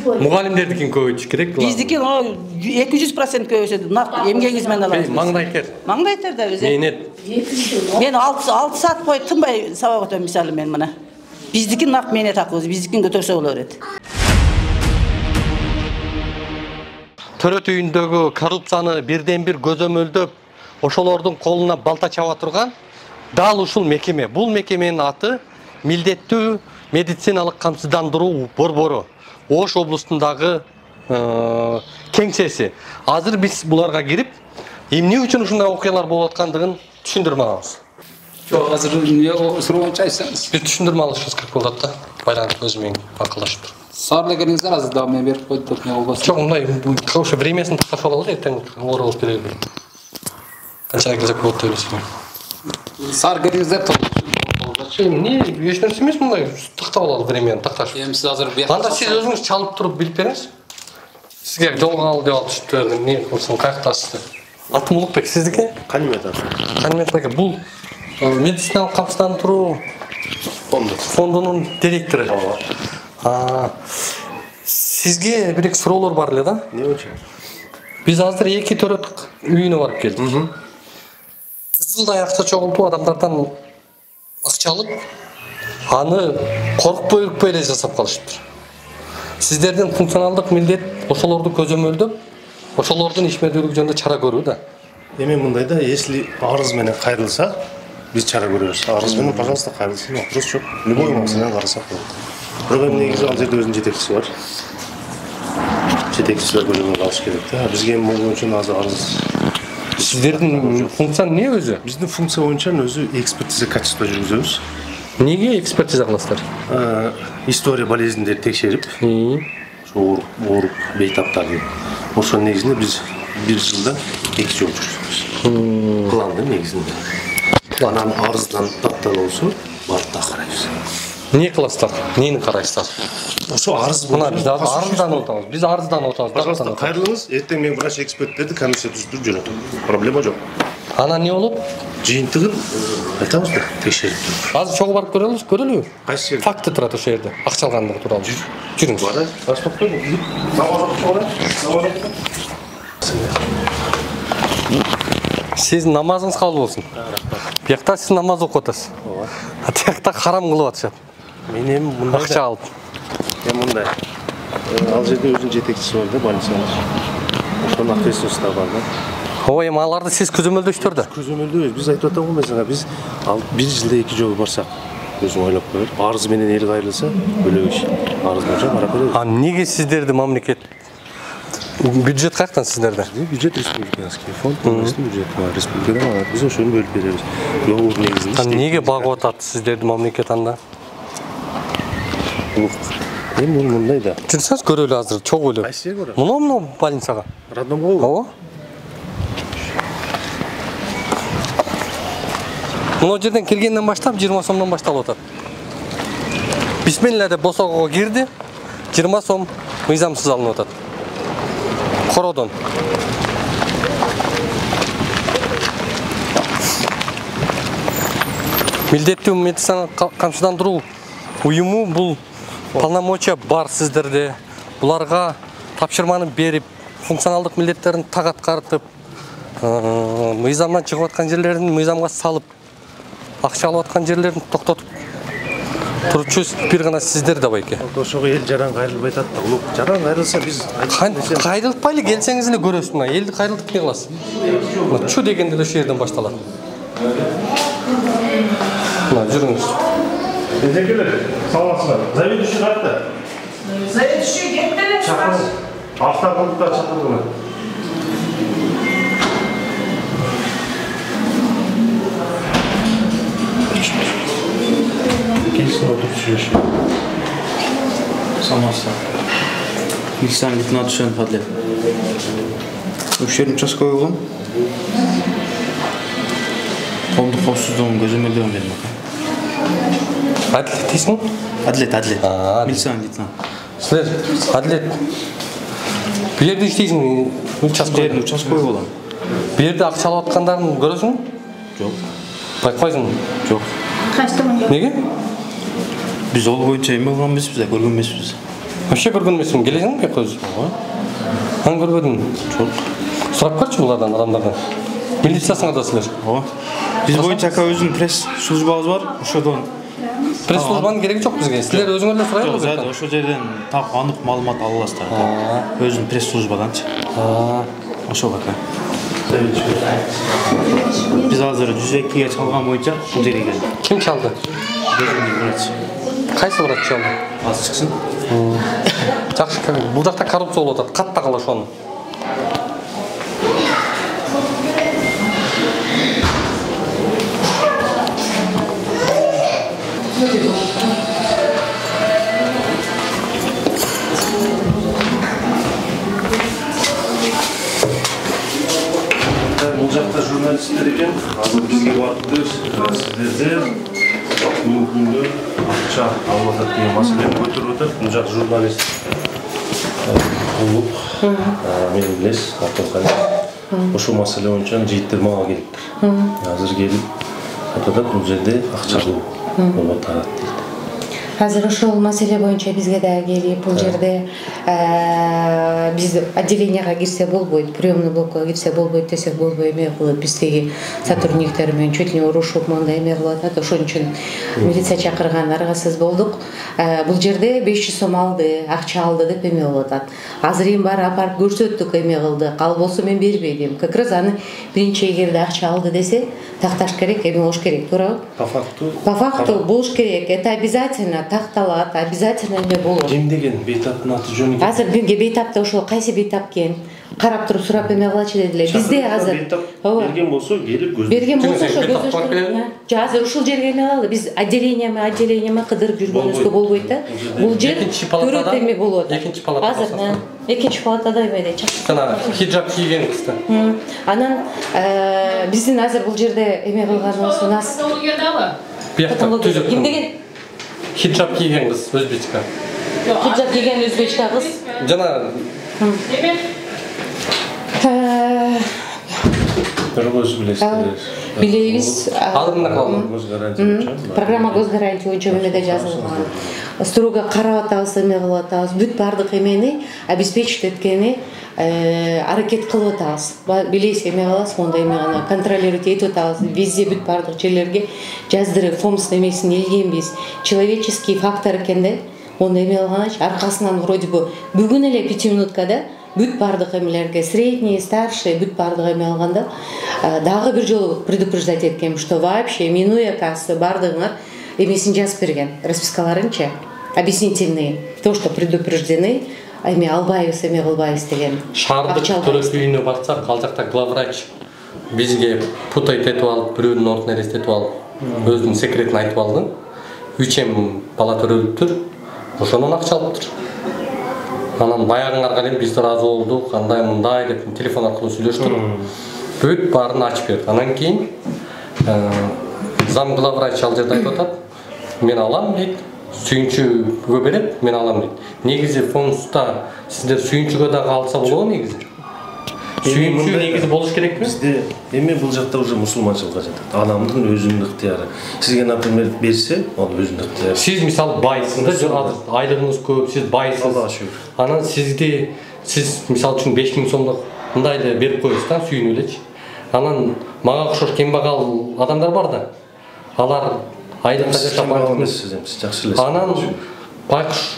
Мугалимдердикин көбөйтүш керек. Биздики эки жүз процент көбөйсө, нак эмгегиңиз менен алабыз. Маңдай тер. Маңдай тер да өзү. Менет. Мен алты саат бою тынбай сабак өтөм мисалы мен мына. Биздики нак менет акыбыз, биздикин көтөрсө боло берет. Төрөт үйүндөгү коррупцияны бирден бир көзөмөлдөп, ошолордун колуна балта чаба турган дал ушул мекеме. Бул мекеменин аты Милдеттүү медициналык камсыздандыруу борбору. Ош облустундагы кеңсеси. Азыр биз буларга кирип, эмне үчүн ушундай окуялар болуп аткандыгын түшүндүрмө алабыз. Жок, азыр эмне суроончу айтсаңыз. Биз түшүндүрмө алышыбыз керек болот да. Байланып өзү менен акылдашып туруп. Сарда келиңиздер, азыр дагы мен берип койдум деп не болбосун. Жок, мындай ошо времясын тактап алалы, эртең оор болуп келели. Канчага келсек болот деп элесиң. Сар келиңиздер топ. Эмне, эч нерсе эмес мындай тактап алалы времяны такташ. Эми сиз азыр бияк. Анда сиз өзүңүз чалып туруп билип бериңиз. Сизге жолго ал деп алып берди. Эмне кылсаң каяктасыз? Атым Улукбек, сиздики? Канимет аты. Канимет ака, бул медициналык камсыздандыруу фонду. Фондунун директору. А сизге бир суроолор бар эле да? Не үчүн? Биз азыр эки төрөт үйүнө барып келдик. Кызылдай акча чогултуп адамдардан акча алып, аны коркпой ыкпай эле жасап калышыптыр. Сиздердин функционалдык милдет ошолорду көзөмөлдөп, ошолордун ишмердүүлүгү жөнүндө чара көрүү да. Эми мындай да, если арыз менен кайрылса, биз чара көрөбүз. Арыз менен, пожалуйста, кайрылсын, вопрос жок. Любой маселени карасак болот. Бирок эми негизи ал жерде өзүнүн жетекчиси бар. Жетекчиси да көзөмөлгө алыш керек да. Бизге эми могу үчүн азыр арыз. Сиздердин функция эмне өзү? Биздин функция боюнча өзү экспертиза качество жүргүзөбүз. Эмнеге экспертиза кыласыздар? История болезньдерди текшерип, ооруп, ооруп, бейтаптарды. Ошонун негизинде биз бир жылда эки жолу жүргүзөбүз. Пландын негизинде. Анан арыздан даттан болсо, барып да карайбыз. Эмне кыласыздар? Эмнени карайсыздар? Ошо арыз мына биз арыздан отабыз. Биз арыздан отабыз. Пожалуйста, кайрылыңыз. Эртең мен врач эксперттерди комиссия түзүп жөнөтөм. Проблема жок. Анан эмне болот? Жыйынтыгын айтабыз да, текшерип туруп. Азыр чогуу барып көрөлүбүз, көрөлүбү? Кайсы жер? Факты турат ошол жерде. Акча алгандыгы тууралуу. Жүрүңүз. Бара, баштап коелу. Сиз намазыңыз кабыл болсун. Биякта сиз намаз окуп атасыз. Ооба. А тиякта харам кылып атышат. Мен эми мындай акча алып. Эми мындай. Ал жерде өзүнүн жетекчиси бар да, больницанын. Ошонун ответственности да бар да. Ой, эми аларды сиз көзөмөлдөйсүздөр да. Көзөмөлдөйбүз. Биз айтып атам го мисалга, биз ал бир жылда эки жолу барсак, өзүң ойлоп кой. Арыз менен эл кайрылса, бөлөк иш. Арыз боюнча карап беребиз. А эмнеге сиздерди мамлекет бюджет каяктан сиздерде? Бюджет республиканский фонд, полностью бюджет бар. Республикадан биз ошону бөлүп беребиз. Договор негизинде. А эмнеге багып атат сиздерди мамлекет анда? Эми бул мындай да. Жүрсөңүз көрөлү азыр чогуу эле. Кайсы жерге көрөм? Муну муну больницага. Роддомго? Ооба. Мына жерден киргенден баштап жыйырма сомдон башталып атат. Бисмилла деп босогого кирди, жыйырма сом мыйзамсыз алынып атат. Кородон. Милдеттүү медицина камсыздандыруу уюму бул полномочия бар сиздерде. Буларга тапшырманы берип, функционалдык милдеттерин так аткартып, мыйзамдан чыгып аткан жерлерин мыйзамга салып, акча алып аткан жерлерин токтотуп турчу бир гана сиздер да байке. Ошого эл жаран кайрылбай атат да. Улук жаран кайрылса биз кайрылтпайлы келсеңиз эле көрөсүз мына. Элди кайрылтып эмне кыласыз? Мына чу дегенде эле ошол жерден башталат. Мына жүрүңүз. Эзекелер, саламатсыздар. Заведующий катты. Автокөлүктөр чакырдым. Келсин отуруп сүйлөшүп. Самаса. Милициянын лейтенанты Шен Падлет. Өкшерин участковый болгон. Коомдук коопсуздугун көзөмөлдөм бердим. Адлет дейсиң? Адлет, Адлет. Милициянын лейтенанты. Силер Адлет бул жерде иштейсиң, участковый. Участковый болом. Бул жерде акча алып аткандарын көрөсүң? Жок. Байкабайсың? Жок. Качтымын. Неге? Биз ол боюнча эме кылган эмеспиз, көргөн эмеспиз. Вообще көргөн эмесиң, келесиңби бияка өзү? Ооба. Аны көрбөдүң? Жок. Сурап көрчү булардан, адамдардан. Милициясыңар да силер? Ооба. Биз боюнча ака өзүнүн пресс службабыз бар, ошодон пресс службанын кереги жок бизге. Силер өзүңөр эле сурайлы. Жок, зайда ошол жерден так анык маалымат ала аласыздар. Өзүнүн пресс службаданчы. Ошол ака. Биз азыр жүз экиге чалган боюнча бул жерге келдик. Ким чалды? Дежурный врач. Кайсы врач чалды? Азыр чыксын. Жакшы, бул жакта коррупция болуп атат. Каттагыла ошону. Бул жакта журналисттер экен. Азыр бизге барыптыр. Сиздерде бүгүнгү акча алып атат деген маселени көтөрүп атат. Бул жак журналист болуп, мен билесиз, Артурхан. Ошол маселе боюнча жигиттер мага келиптир. Азыр келип атат, бул жерде акча алуу болуп атат дейт. Азыр ошол маселе боюнча бизге да келип, бул жерде биз отделенияга кирсе болбойт, приемный блокко кирсе болбойт десек болбой эме кылып, биздеги сотрудниктер менен чуть ли не урушуп, мындай эме кылып атат. Ошон үчүн милиция чакырган, аргасыз болдук. Бул жерде беш жүз сом алды, акча алды деп эме болуп атат. Азыр эми баары апарып көрсөттүк, эме кылдык. Ал болсо мен бербейм. Как раз аны биринчи эгерде акча алды десе, такташ керек, эме болуш керек, туурабы? По факту. По факту болуш керек. Это обязательно такталат, обязательно эме болот. Ким деген бейтаптын аты жөнү? Азыр бизге бейтапта ошол кайсы бейтап экен? Карап туруп сурап эме кылачы дедилер. Бизде азыр берген болсо келип көздөштүр. Берген болсо ошо көздөштүр. Жа азыр ушул жерге эме кылалы. Биз отделениями, отделениями кыдырып жүргөнүбүзгө болбойт да. Бул жер төрөт эме болот. Экинчи палата. Азыр экинчи палатада эмеде чакырып. Жана хиджаб кийген кызды. Анан биздин азыр бул жерде эме кылганыбыз у нас. Биякта түзөк. Ким деген? Хиджаб кийген кыз, өзбечка. Хиджаб кийген өзбечка кыз. Жана эме Көргөз билесиздер. Билебиз. Программа госгарантия боюнча эмеде жазылган. Строго карап атабыз, эме кылып атабыз. Бүт баардык эмени обеспечить эткени аракет кылып атабыз. Билесиз, эме кылабыз, мондай эме гана контролировать этип атабыз. Везде бүт баардык жерлерге жаздырып, фомс эмесин илгенбиз. Человеческий фактор экен да. Оны эме кылганыч аркасынан вроде бы бүгүн эле пяти минуткада бүт баардык эмелерге средний, старший бүт баардык эме алганда дагы бир жолу предупреждать эткем, что вообще минуя кассы баардыгыңар эмесин жазып берген, распискаларынча объяснительные, то, что предупреждены, эме албайбыз, эме кылбайбыз деген. Шаардык төрөт үйүнө барсак, ал жакта главврач бизге путайт этип алып, бирөөнүн ордун элестетип алып, өзүнүн секретин айтып алды. үч эм бала төрөлүптүр, ошонун акча алыптыр. Анан баягыңарга эле биз ыраазы болдук, андай мындай деп телефон аркылуу сүйлөштүк. Бүт баарын ачып берди. Анан кийин зам главврач ал жерде айтып атат, мен алам дейт, сүйүнчүгө берет, мен алам дейт. Негизи фондста сиздер сүйүнчүгө дагы алса болобу негизи? Сүйүнчү негизи болуш керекпи? Бизде эми бул жакта уже мусулманчылыкка жатат. Адамдын өзүнүн ыктыяры. Сизге, например, берсе, ал өзүнүн ыктыяры. Сиз мисалы байсыз да, азыр айлыгыңыз көп, сиз байсыз. Аллага шүгүр. Анан сизди сиз мисалы үчүн беш миң сомдук мындай эле берип коесуз да, сүйүнүп элечи. Анан мага окшош кембагал адамдар бар да. Алар айлыкка жашап эмес, сиз жакшы элесиз. Анан байкуш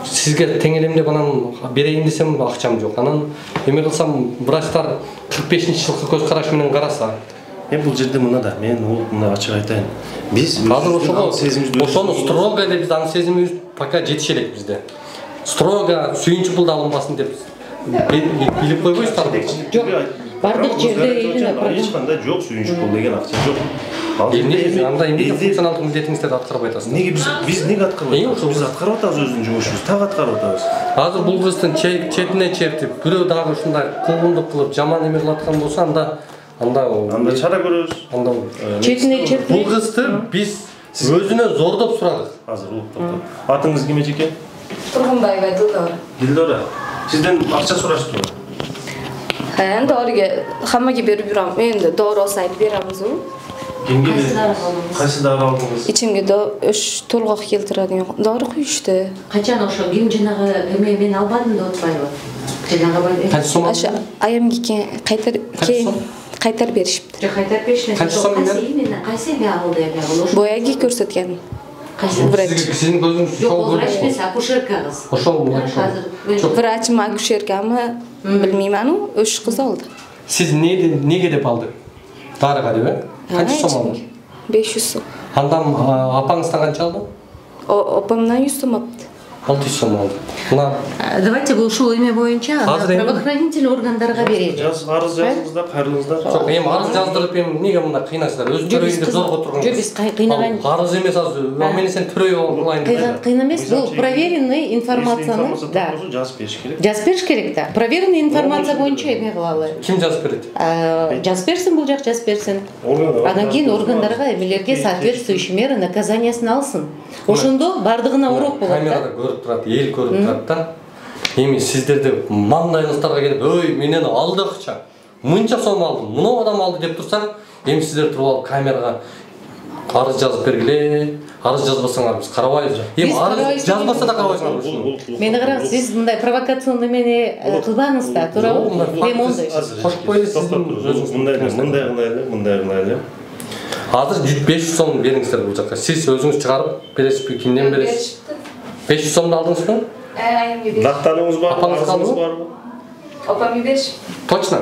сизге тең элем деп анан берейин десем акчам жок. Анан эме кылсам врачтар кырк бешинчи жылкы көз караш менен караса. Эми бул жерде мына да, мен ол мына ачык айтайын. Биз азыр ошого ошону строго эле биз аны сезимибиз пока жетише элек бизде. строго сүйүнчү пулду алынбасын деп билип койбойсуздарбы? Жок. Бардык жерде эч кандай жок, сүйүнчү пул деген акча жок. Эмне анда эмне функционалдык милдетиңизди аткарбай атасыздар? Неге биз биз неге аткарбай атабыз? Биз аткарып атабыз өзүбүздүн жумушубузду, так аткарып атабыз. Азыр бул кыздын четине чертип, бирөө дагы ушундай куугундук кылып жаман эме кылып аткан болсо, анда анда анда чара көрөбүз. Анда четине чертип. Бул кызды биз өзүнөн зордоп сурадык. Азыр улуп токтоп. Атыңыз ким эжеке? Тургунбаева Дилдора. Дилдора. Сизден акча сураштыбы? Ha, endi origa hammaga berib yuramiz. Endi dori olsa aytib beramiz-ku. Kimga berasiz? Qaysi dori oldingiz? Ichimga o'sh to'lg'oq keltiradigan dori quyishdi. Qachon o'sha kim jinaga men men albadim deb o'tmaydi. Jinaga bo'ldi. Qancha so'm? O'sha ayamga qaytar keyin qaytarib berishibdi. Yo'q, qaytarib berishdi. Qancha so'm berdi? Qaysi men oldi ekan? Boyagi ko'rsatgan. Sizin gözünüz çok olur. Yok, vrach akuşerka kız. Oşol mu? Vrach mı akuşerka mı bilmeyman o, o'sha qiz oldi. Siz ne nege dep aldı? Dariga deb? Qancha so'm oldi? besh yuz so'm. Andan apаңыздан qancha oldi? Opamdan yuz so'm oldi. olti yuz so'm oldi. Mына Давайте bu ушул эме боюнча правоохранительный органдарга берели. Жаз арыз жазыңыздар, кайрылыңыздар. Жок, эми арыз жаздырып эми эмнеге мында кыйнайсыздар? Өзү төрөйүн деп зорго турган. Жок, биз кыйнаган. Арыз эмес азыр. Мени сен төрөй кылайын деп. Кыйын эмес, бул проверенный информацияны, да. Жазып бериш керек. Жазып бериш керек да. Проверенный информация боюнча эме кылалы. Ким жазып берет? Жазып берсин, бул жак жазып берсин. Андан кийин органдарга эмелерге соответствующий мера наказаниясын алсын. Ошондо бардыгына урок болот. Камерада көрүп турат, эл көрүп турат да. Эми сиздерде маңдайыңыздарга келип, "Өй, менен алды акча. Мынча сом алдым, мына адам алды" деп турсаң, эми сиздер туруп алып камерага арыз жазып бергиле. Арыз жазбасаңар биз карабайбыз. Эми арыз жазбаса да карабайсыңар ушуну. Мени караңыз, сиз мындай провокационный эмени кылбаңыз да, туурабы? Эми ондай. Кошпойду сиздин өзүңүз мындай мындай кылайлы, мындай кылайлы. Азыр беш жүз сом бериңиздер бул жака. Сиз өзүңүз чыгарып бересизби, кимден бересиз? беш жүз сомду алдыңызбы? Айымга беришти. Даттаныңыз барбы? Арызыңыз барбы? Опамга беришти. Точно?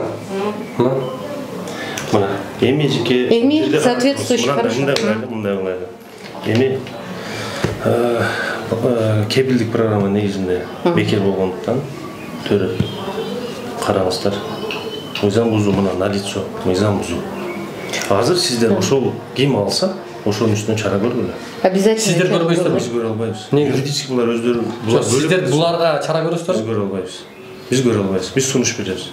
Мына, эми жеке эми соответствующий хорошо. Мындай кылайлы, мындай кылайлы. Эми кепилдик программа негизинде бекер болгондуктан төрөп караңыздар. Мыйзам бузуу мына налицо, мыйзам бузуу. Азыр сиздер ошол ким алса, ошонун үстүнө чара көргүлө. Обязательно. Сиздер көрбөйсүздөр, биз көрө албайбыз. Юридически булар өздөрү булар сиздер буларга чара көрөсүздөр? Биз көрө албайбыз. Биз көрө албайбыз. Биз сунуш беребиз.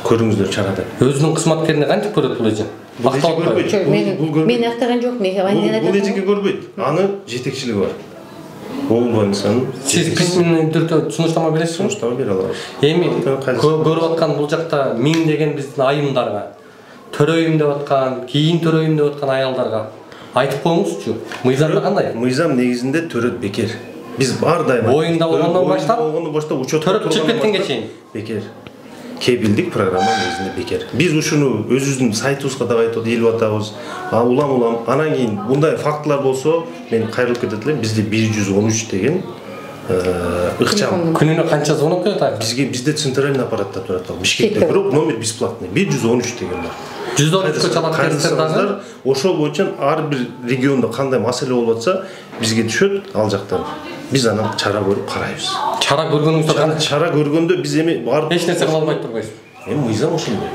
Көрүңүздөр чарада. Өзүнүн кызматкерине кантип көрөт бул эже? Актап көрбөйт. Мен актаган жок, мен айнен айтам. Бул эжеге көрбөйт. Аны жетекчилиги бар. Бул больницанын. Сиз письменный түрдө сунуштама бересизби? Сунуштама бере алабыз. Эми көрүп аткан бул жакта миң деген биздин айымдарга, төрөйүм деп аткан, кийин төрөйүм деп аткан аялдарга айтып коюңузчу. Мыйзамда кандай? Мыйзам негизинде төрөт бекер. Биз ар дайым боюнда болгондон баштап, болгондон баштап учет төрөп чыгып кеткенге чейин бекер. Кепилдик программа негизинде бекер. Биз ушуну өзүбүздүн сайтыбызга да айтып элип атабыз. Улам-улам анан кийин мындай фактылар болсо, мен кайрылып кетет элем. Бизде бир жүз он үч деген ыкчам. Күнүнө канча звонок келет айга? Бизге бизде центральный аппаратта турат ал. Бишкекте бирок номер бесплатный. бир жүз он үч деген бар. жүз он үчкө чалат кайрылсаңыздар, ошол боюнча ар бир региондо кандай маселе болуп атса, бизге түшөт ал жактан. Биз анан чара көрүп карайбыз. Чара көргөнүңүздө кандай? Чара көргөндө биз эми барып эч нерсе кыла албай турбайсыз. Эми мыйзам ошондой.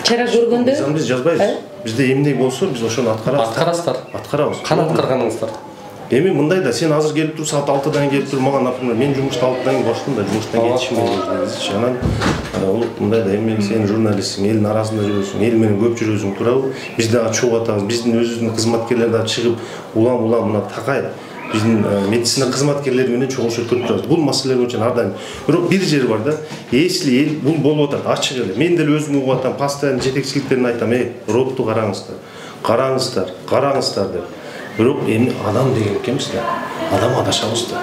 Чара көргөндө мыйзам биз жазбайбыз. Бизде эмне болсо, биз ошону аткарабыз. Аткарасыздар. Аткарабыз. Кана аткарганыңыздар? Эми мындай да, сен азыр келип тур, саат алтыдан келип тур, мага, например, мен жумушта алтыдан кийин боштум да, жумуштан кетишим керек. Анан мындай да, эми сен журналистсиң, элдин арасында жүрөсүң, эл менен көп жүрөсүң, туурабы? Биз дагы чогуу атабыз, биздин өзүбүздүн кызматкерлер дагы чыгып, улам-улам мына такай биздин медицина кызматкерлери менен чогулушуп көрүп турабыз. Бул маселе боюнча ар дайым. Бирок бир жери бар да, если эл бул болуп атат, ачык эле. Мен деле өзүм угуп атам, постоянно жетекчиликтерине айтам, "Эй, ротту караңыздар, караңыздар, караңыздар" деп. Бирок эми адам деген экенбиз да. Адам адашабыз да.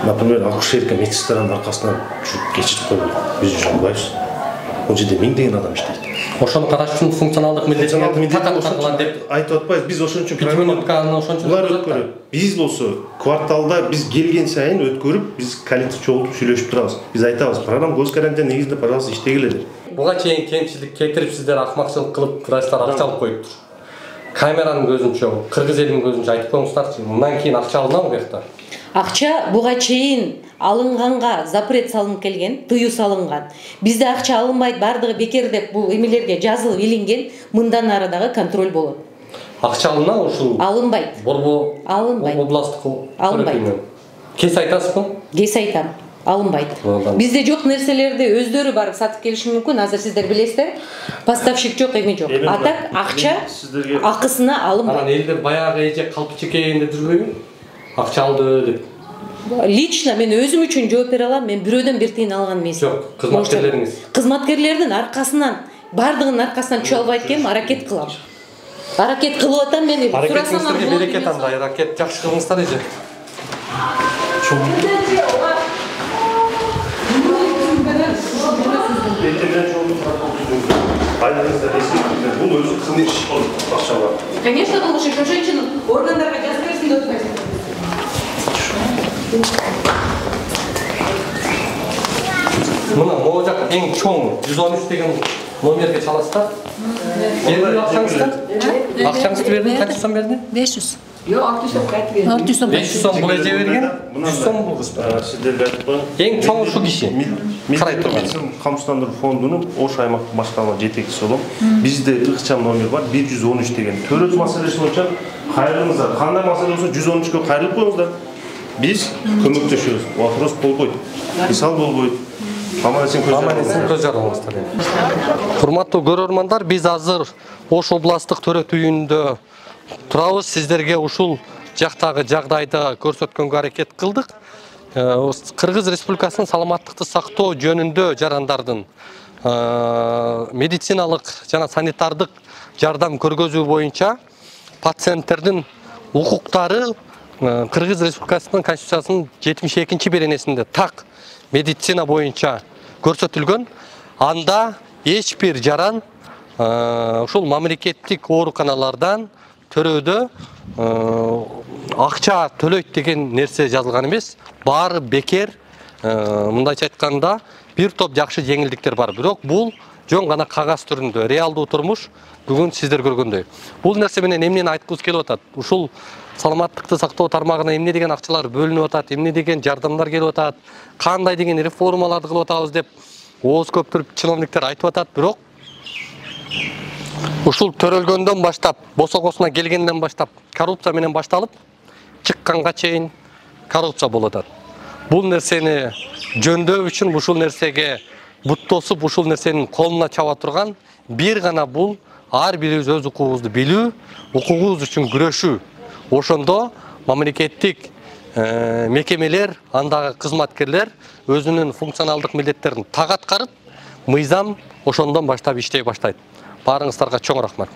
Например, акушерка медсестранын аркасынан жүрүп кечирип койгон. Биз жүрө албайбыз. Ол жерде миң деген адам иштейт. Ошону караш үчүн функционалдык милдетин такат деп айтып атпайбыз. Биз ошон үчүн булар өткөрөт. Биз болсо кварталда биз келген сайын өткөрүп, биз коллектив чогултуп сүйлөшүп турабыз. Биз айтабыз, программа көз карантин негизинде, пожалуйста, иштегиле деп. Буга чейин кемчилик келтирип сиздер акмакчылык кылып, врачтар акча алып коюптур. Камеранын көзүнчө, кыргыз элинин көзүнчө айтып коюңуздарчы, мындан кийин акча алынабы бу жакта? Акча буга чейин алынганга запрет салынып келген, тыюу салынган. Бизде акча алынбайт, бардыгы бекер деп бул эмелерге жазылып илинген, мындан ары дагы контроль болот. Акча алына ушул? Алынбайт. Борбо алынбайт. Областтык алынбайт. Кес айтасызбы? Кес айтам. Алынбайт. Бизде жок нерселерди өздөрү барып сатып келиши мүмкүн. Азыр сиздер билесиздер, поставщик жок, эме жок. А так акча акысына алынбайт. Анан элдер баягы эже калпы чекейинде жүрбөйбү? Акча алды деп. Лично мен өзүм үчүн жооп бере алам. Мен бирөөдөн бир тыйын алган эмесмин. Жок, кызматкерлериңиз. Кызматкерлердин аркасынан, бардыгынын аркасынан чүй албайт экенмин, аракет кылам. Аракет кылып атам мен. Аракетиңизге берекет андай, аракет жакшы кылыңыздар эже. Конечно, лучше, что женщина органдарга жазып берсин деп атпайсың. Мына могу жак эң чоң жүз он үч деген номерге чаласыздар. Бердиңби акчаңызды? Акчаңызды бердиң, канча сом берди? беш жүз. Yok, altı yüz som verdi. altı yüz som. beş yüz som bul эже берген. жүз сом бул кыз. Сиздерге айтып коеюн. Эң чоң ушу киши. Карай турган. Камсыздандыруу фондунун Ош аймактык башкарма жетекчиси болом. Бизде ыкчам номер бар бир жүз он үч деген. Төрөт маселеси боюнча кайрылыңыздар. Кандай маселе болсо жүз он үчкө кайрылып коюңуздар. Биз көмөктөшөбүз. Вопрос болбойт. Мисал болбойт. Аман-эсен көз жарыңыздар. Урматтуу көрөрмандар, биз азыр Ош областтык төрөт үйүндө турабыз. Сиздерге ушул жактагы жагдайды көрсөткөнгө аракет кылдык. Кыргыз Республикасынын саламаттыкты сактоо жөнүндө жарандардын медициналык жана санитардык жардам көргөзүү боюнча пациенттердин укуктары Кыргыз Республикасынын Конституциясынын жетимиш экинчи беренесинде так медицина боюнча көрсөтүлгөн. Анда эч бир жаран ушул мамлекеттик ооруканалардан төрөөдө акча төлөйт деген нерсе жазылган эмес. Баары бекер. Мындайча айтканда бир топ жакшы жеңилдиктер бар. Бирок бул жөн гана кагаз түрүндө, реалдуу турмуш бүгүн сиздер көргөндөй. Бул нерсе менен эмнени айткыбыз келип атат? Ушул саламаттыкты сактоо тармагына эмне деген акчалар бөлүнүп атат, эмне деген жардамдар келип атат, кандай деген реформаларды кылып атабыз деп ооз көптүрүп чиновниктер айтып атат. Бирок ушул төрөлгөндөн баштап, босогосуна келгенден баштап коррупция менен башталып, чыкканга чейин коррупция болуп атат. Бул нерсени жөндөө үчүн ушул нерсеге буттосуп, ушул нерсенин колуна чаба турган бир гана бул ар бирибиз өз укугубузду билүү, укугубуз үчүн күрөшүү. Ошондо мамлекеттик мекемелер, андагы кызматкерлер өзүнүн функционалдык милдеттерин так аткарып, мыйзам ошондон баштап иштей баштайт. Баарыңыздарга чоң рахмат.